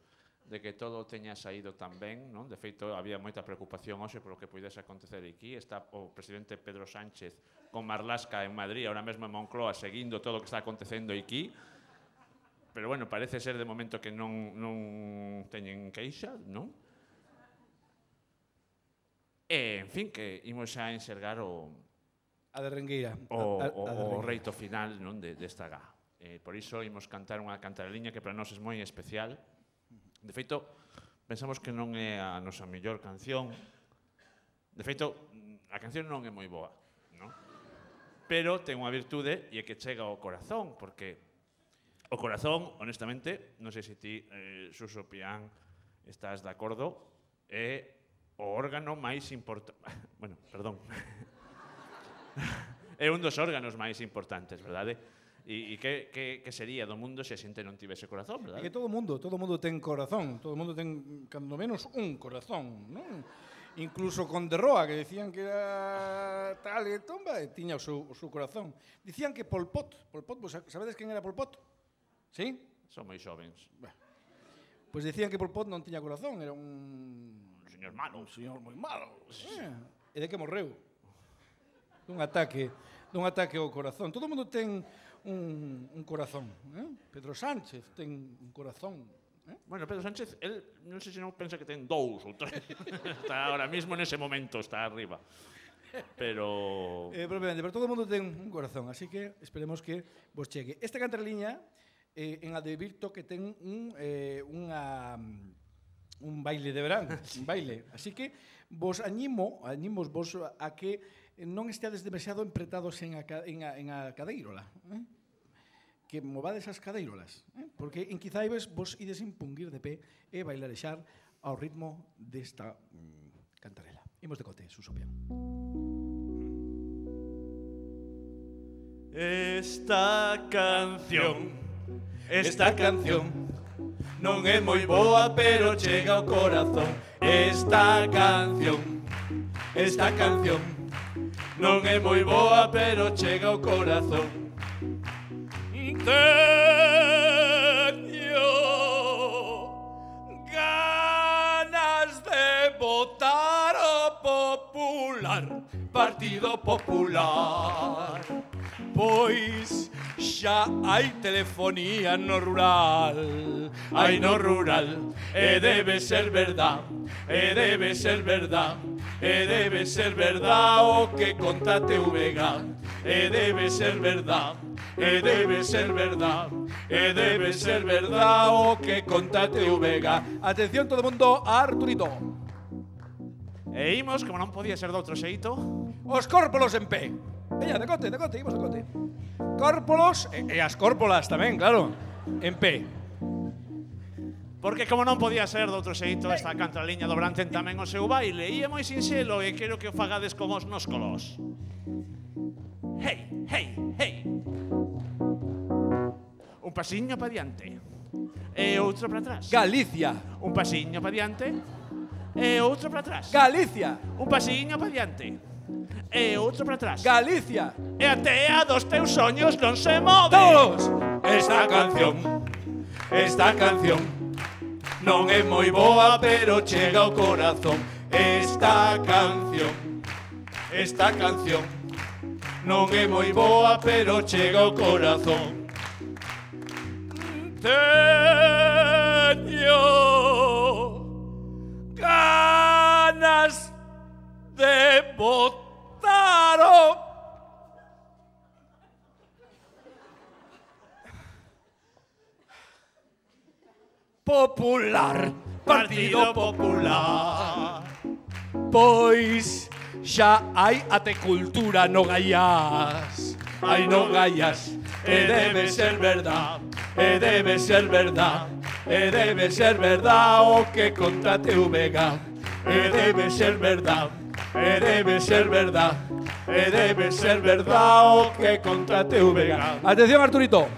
de que todo teña saído tan ben, non? De feito, había moita preocupación hoxe polo que pudese acontecer aquí. Está o presidente Pedro Sánchez con Marlaska en Madrid, ahora mesmo en Moncloa, seguindo todo o que está acontecendo aquí. Pero, bueno, parece ser de momento que non teñen queixa, non? E, en fin, que imos a enxergar o reito final desta gá. Por iso imos cantar unha cantareliña que para nós é moi especial. De feito, pensamos que non é a nosa mellor canción. De feito, a canción non é moi boa, non? Pero ten unha virtude e é que chega ao corazón, porque o corazón, honestamente, non sei se ti, Suso Pián, estás de acordo, é o órgano máis importante. Bueno, perdón. É un dos órganos máis importantes, verdade? E que sería do mundo se a xente non tivese corazón, verdade? É que todo mundo ten corazón, todo mundo ten, cando menos, un corazón, non? Incluso con De Roa, que decían que era tal e tomba, e tiña o seu corazón. Dicían que Pol Pot, sabedes quen era Pol Pot? Sí? Son moi xovens. Pois dicían que Pol Pot non tiña corazón, era un señor malo. Un señor moi malo. E de que morreu? Dun ataque ao corazón. Todo mundo ten un corazón. Pedro Sánchez ten un corazón. Bueno, Pedro Sánchez, él non sei se non pensa que ten 2 ou 3. Está ahora mismo nese momento, está arriba. Pero todo o mundo ten un corazón, así que esperemos que vos chegue. Esta cantareliña en Advirto que ten un baile de verán, un baile. Así que vos animos vos a que non esteades demasiado empretados en a cadeirola, que movades as cadeirolas, porque en quizaibes vos ides impunguir de pé e bailarexar ao ritmo desta cantarela. Imos de cote, Suso Pián. Esta canción non é moi boa, pero chega ao corazón. Esta canción non é moi boa, pero chega ao corazón. Teño ganas de votar o Popular, Partido Popular. Pois xa hai telefonía no rural, e debe ser verdad, o que conta TVG, e debe ser verdad, o que conta TVG. Atención todo mundo, Arturito. E imos, como non podía ser de outro xeito, os córpolos en pé. Veña, decote, imos decote. Córpolos e as córpolas tamén, claro, en pé. Porque como non podía ser de outro xeito, esta cantareliña dobranten tamén o seu baile, e é moi sinxelo e quero que o fagades como os nóscolos. Hey, hey, hey. Un pasiño pa diante e outro para atrás. Galicia. Un pasiño pa diante e outro para atrás. Galicia. Un pasiño pa diante e outro para atrás. Galicia. E a tea dos teus soños non se move. Todos. Esta canción non é moi boa, pero chega ao corazón. Esta canción non é moi boa, pero chega ao corazón. Teño ganas de votar o Popular, Partido Popular. Pois xa hai até cultura no Gaiás. Ai, no Gaiás, e debe ser verdad, e debe ser verdad o que conta TVG, e debe ser verdad, e debe ser verdad, e debe ser verdad o que conta TVG. Atención, Arturito.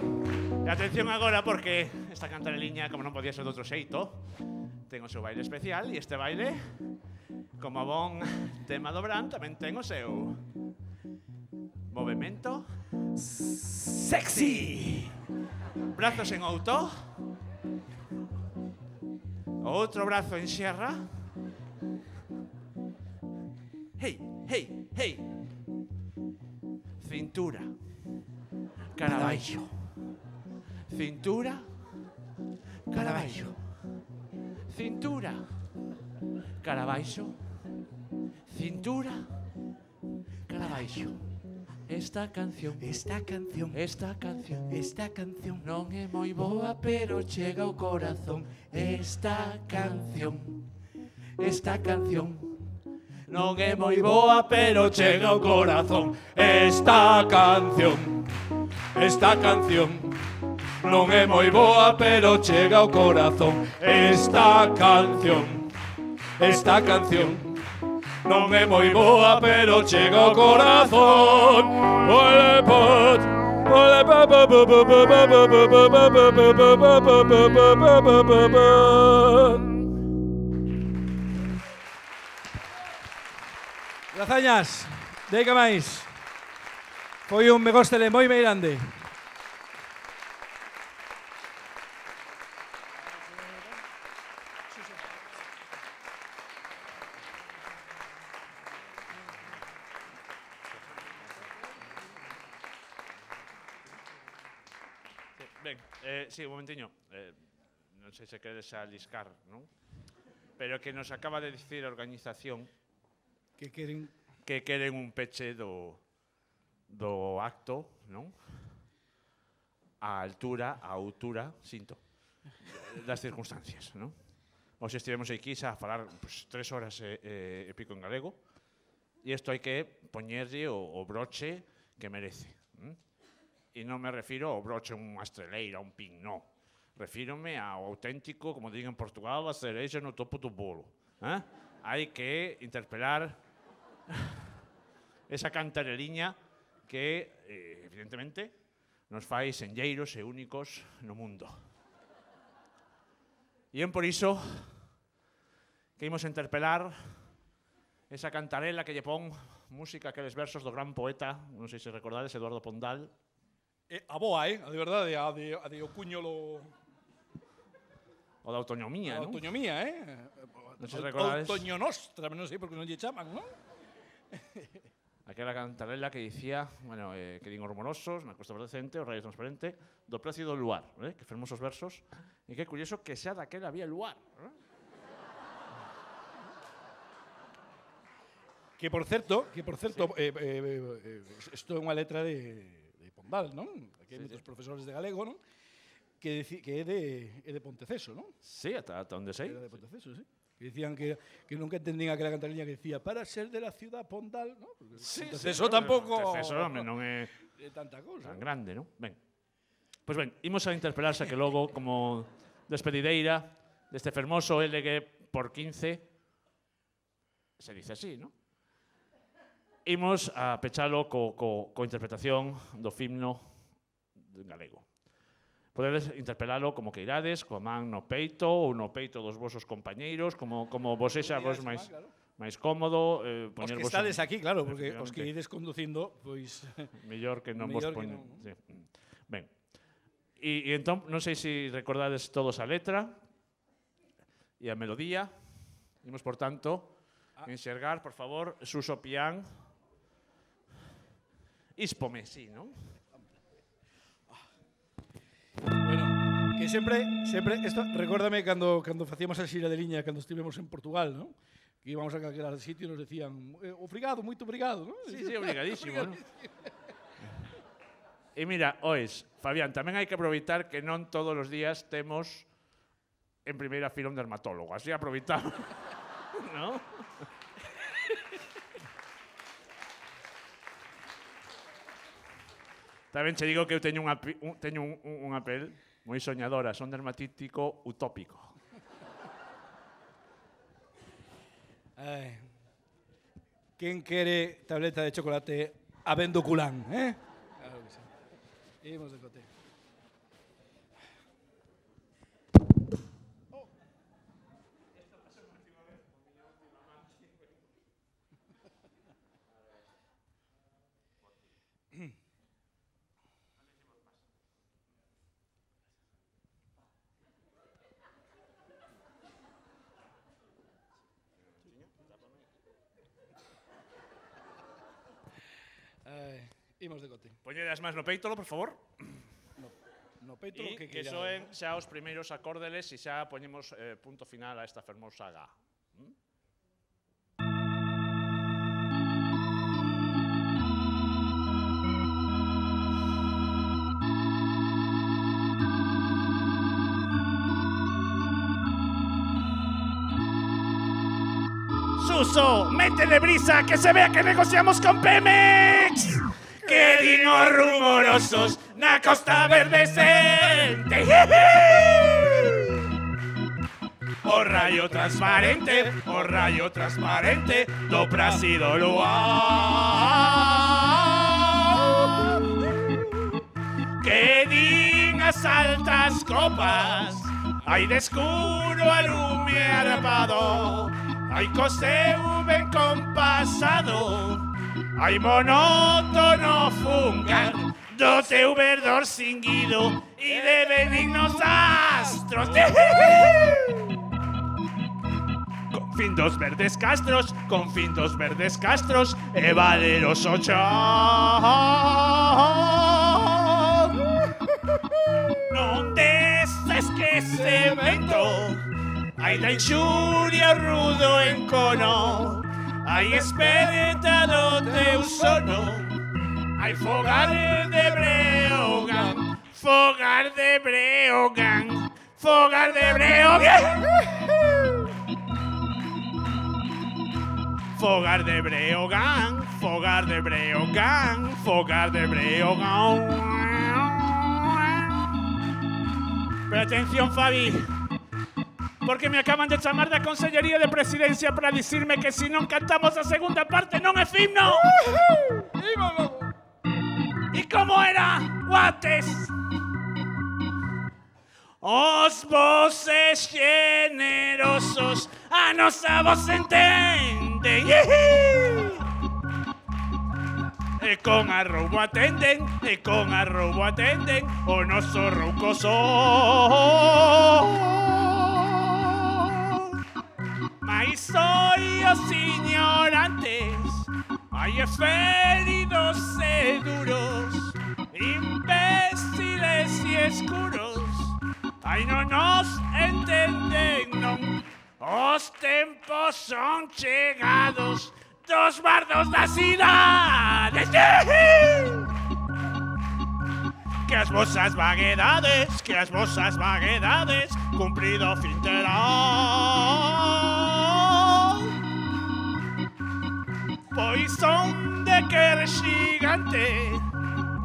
E atención agora porque esta cantareliña, como non podía ser de outro xeito, ten o seu baile especial e este baile, como bon tema do Bran, tamén ten o seu movimento sexy. Brazos en alto. Outro brazo en xerra. Hey, hey, hey. Cintura. Cara abaixo. Cintura. Cara abaixo. Cintura. Cara abaixo. Cintura. Cara abaixo. Esta canción non é moi boa, pero chega ao corazón. Esta canción non é moi boa, pero chega ao corazón. Esta canción non é moi boa, pero chega ao corazón. Esta canción non é moi boa, pero chega ao corazón. Ole pot, ole pa pa pa pa pa pa pa pa pa pa pa pa pa. Grazañas, deica máis. Foi un megóstele moi grande. Sí, un momentiño. Non sei se queres aliscar, non? Pero que nos acaba de dicir a organización que queren un peche do acto, non? A altura, sinto, das circunstancias, non? Hoxe estivemos aquí a falar 3 horas e pico en galego e isto hai que poñerlle o broche que merece. E non me refiro ao broche unha estreleira, un pin, non. Refírome ao auténtico, como digo en Portugal, a cerexa no topo do bolo. Hai que interpelar esa cantareliña que, evidentemente, nos fai senlleiros e únicos no mundo. E é por iso que imos interpelar esa cantarela que lle pon música, aqueles versos do gran poeta, non sei se recordades, Eduardo Pondal. A boa, a de verdade, a de o cuñolo... O da autonomía, non? A autonomía, Non sei se recordades. Autoño nostra, non sei por que non lle chaman, non? Aquela cantarela que dicía, bueno, que din os rumorosos, na costa verdecente, o rayo transparente, do precio do luar, que fermosos versos, e que é curioso que xa daquela había luar, Que por certo, isto é unha letra de Pondal, non? Aquí hai moitos profesores de galego, non? Que é de Ponteceso, non? Sí, ata onde sei. Era de Ponteceso, sí. Que dicían que nunca entendían aquela cantarella que decía para ser de la ciudad Pondal, non? Ponteceso tampouco... Ponteceso non é tanta cousa. Tan grande, non? Ben. Pois ben, imos a interpelarse que logo, como despedideira deste fermoso LG por 15, se dice así, non? Imos a pechalo co interpretación do himno galego. Podedes interpelalo como que irades, coa man no peito ou no peito dos vosos compañeiros, como vos sexa vos máis cómodo. Os que estades aquí, claro, porque os que ides conducindo, pois... Mellor que non vos poñen. Ben. E entón, non sei se recordades todos a letra e a melodía. Imos, por tanto, enxergar, por favor, Suso Pián. Ispome, sí, non? Bueno, que sempre, esto, recórdame cando facíamos a xira de liña, cando estivemos en Portugal, non? Que íbamos a calquera sitio e nos decían obrigado, moito obrigado, non? Sí, obrigadísimo, non? E mira, ois, Fabián, tamén hai que aproveitar que non todos os días temos en primeira fila un dermatólogo, así aproveitamos, non? Tamén che digo que eu teño unha pel Moi soñadora, son dermatítico utópico. Quen quere tableta de chocolate habendo culán, eh? Claro que sí. Imos de cote. Imos de cote. Poñede as mans no peítolo, por favor. No peítolo que soen xa os primeiros acórdeles e xa poñemos punto final a esta fermosa saga. Suso, métele brisa, que se vea que negociamos con Pemex. Que dinos rumorosos na Costa Verde Sente. O rayo transparente do Plácido luar. Que din as altas copas, hai de escuro alume arpado. Hai coseu ben compasado, hai monótono fungar do teu verdor cinguido e de benignos astros. Con fin dos verdes castros e valeroso chão. Non destes que se vento, hai da inxuria rudo encono, hai esperta do teu sono, hai fogar de Breogán, fogar de Breogán, fogar de Breogán. Fogar de Breogán, fogar de Breogán, fogar de Breogán. Pero atención, Fabi, porque me acaban de chamar da Consellería de Presidencia para dicirme que se non cantamos a segunda parte non é himno. E como era, Guates? Os voces generosos a nosa voz entenden. E con arrobo atenden, o noso roucoso. Mais soy os ignorantes, hai feridos e duros, imbéciles e escuros, ai non nos entenden, non. Os tempos son chegados dos bardos das cidades. Que as vosas vaguedades cumprido fin terán. Pois son de quer xigante,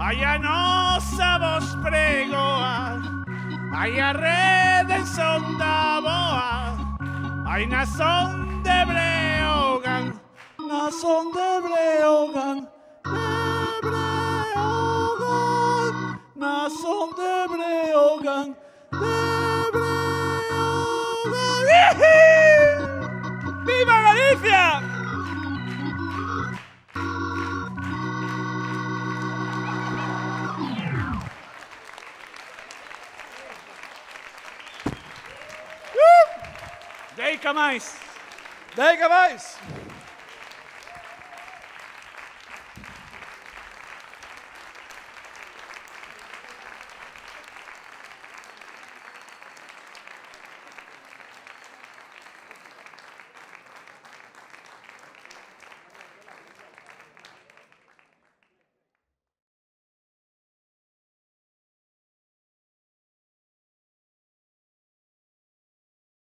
ai a nosa voz pregoa, ai a redención da boa, ai na son de Breogán, na son de Breogán, na son de Breogán, ¡Viva Galicia! Deica máis! Deica máis!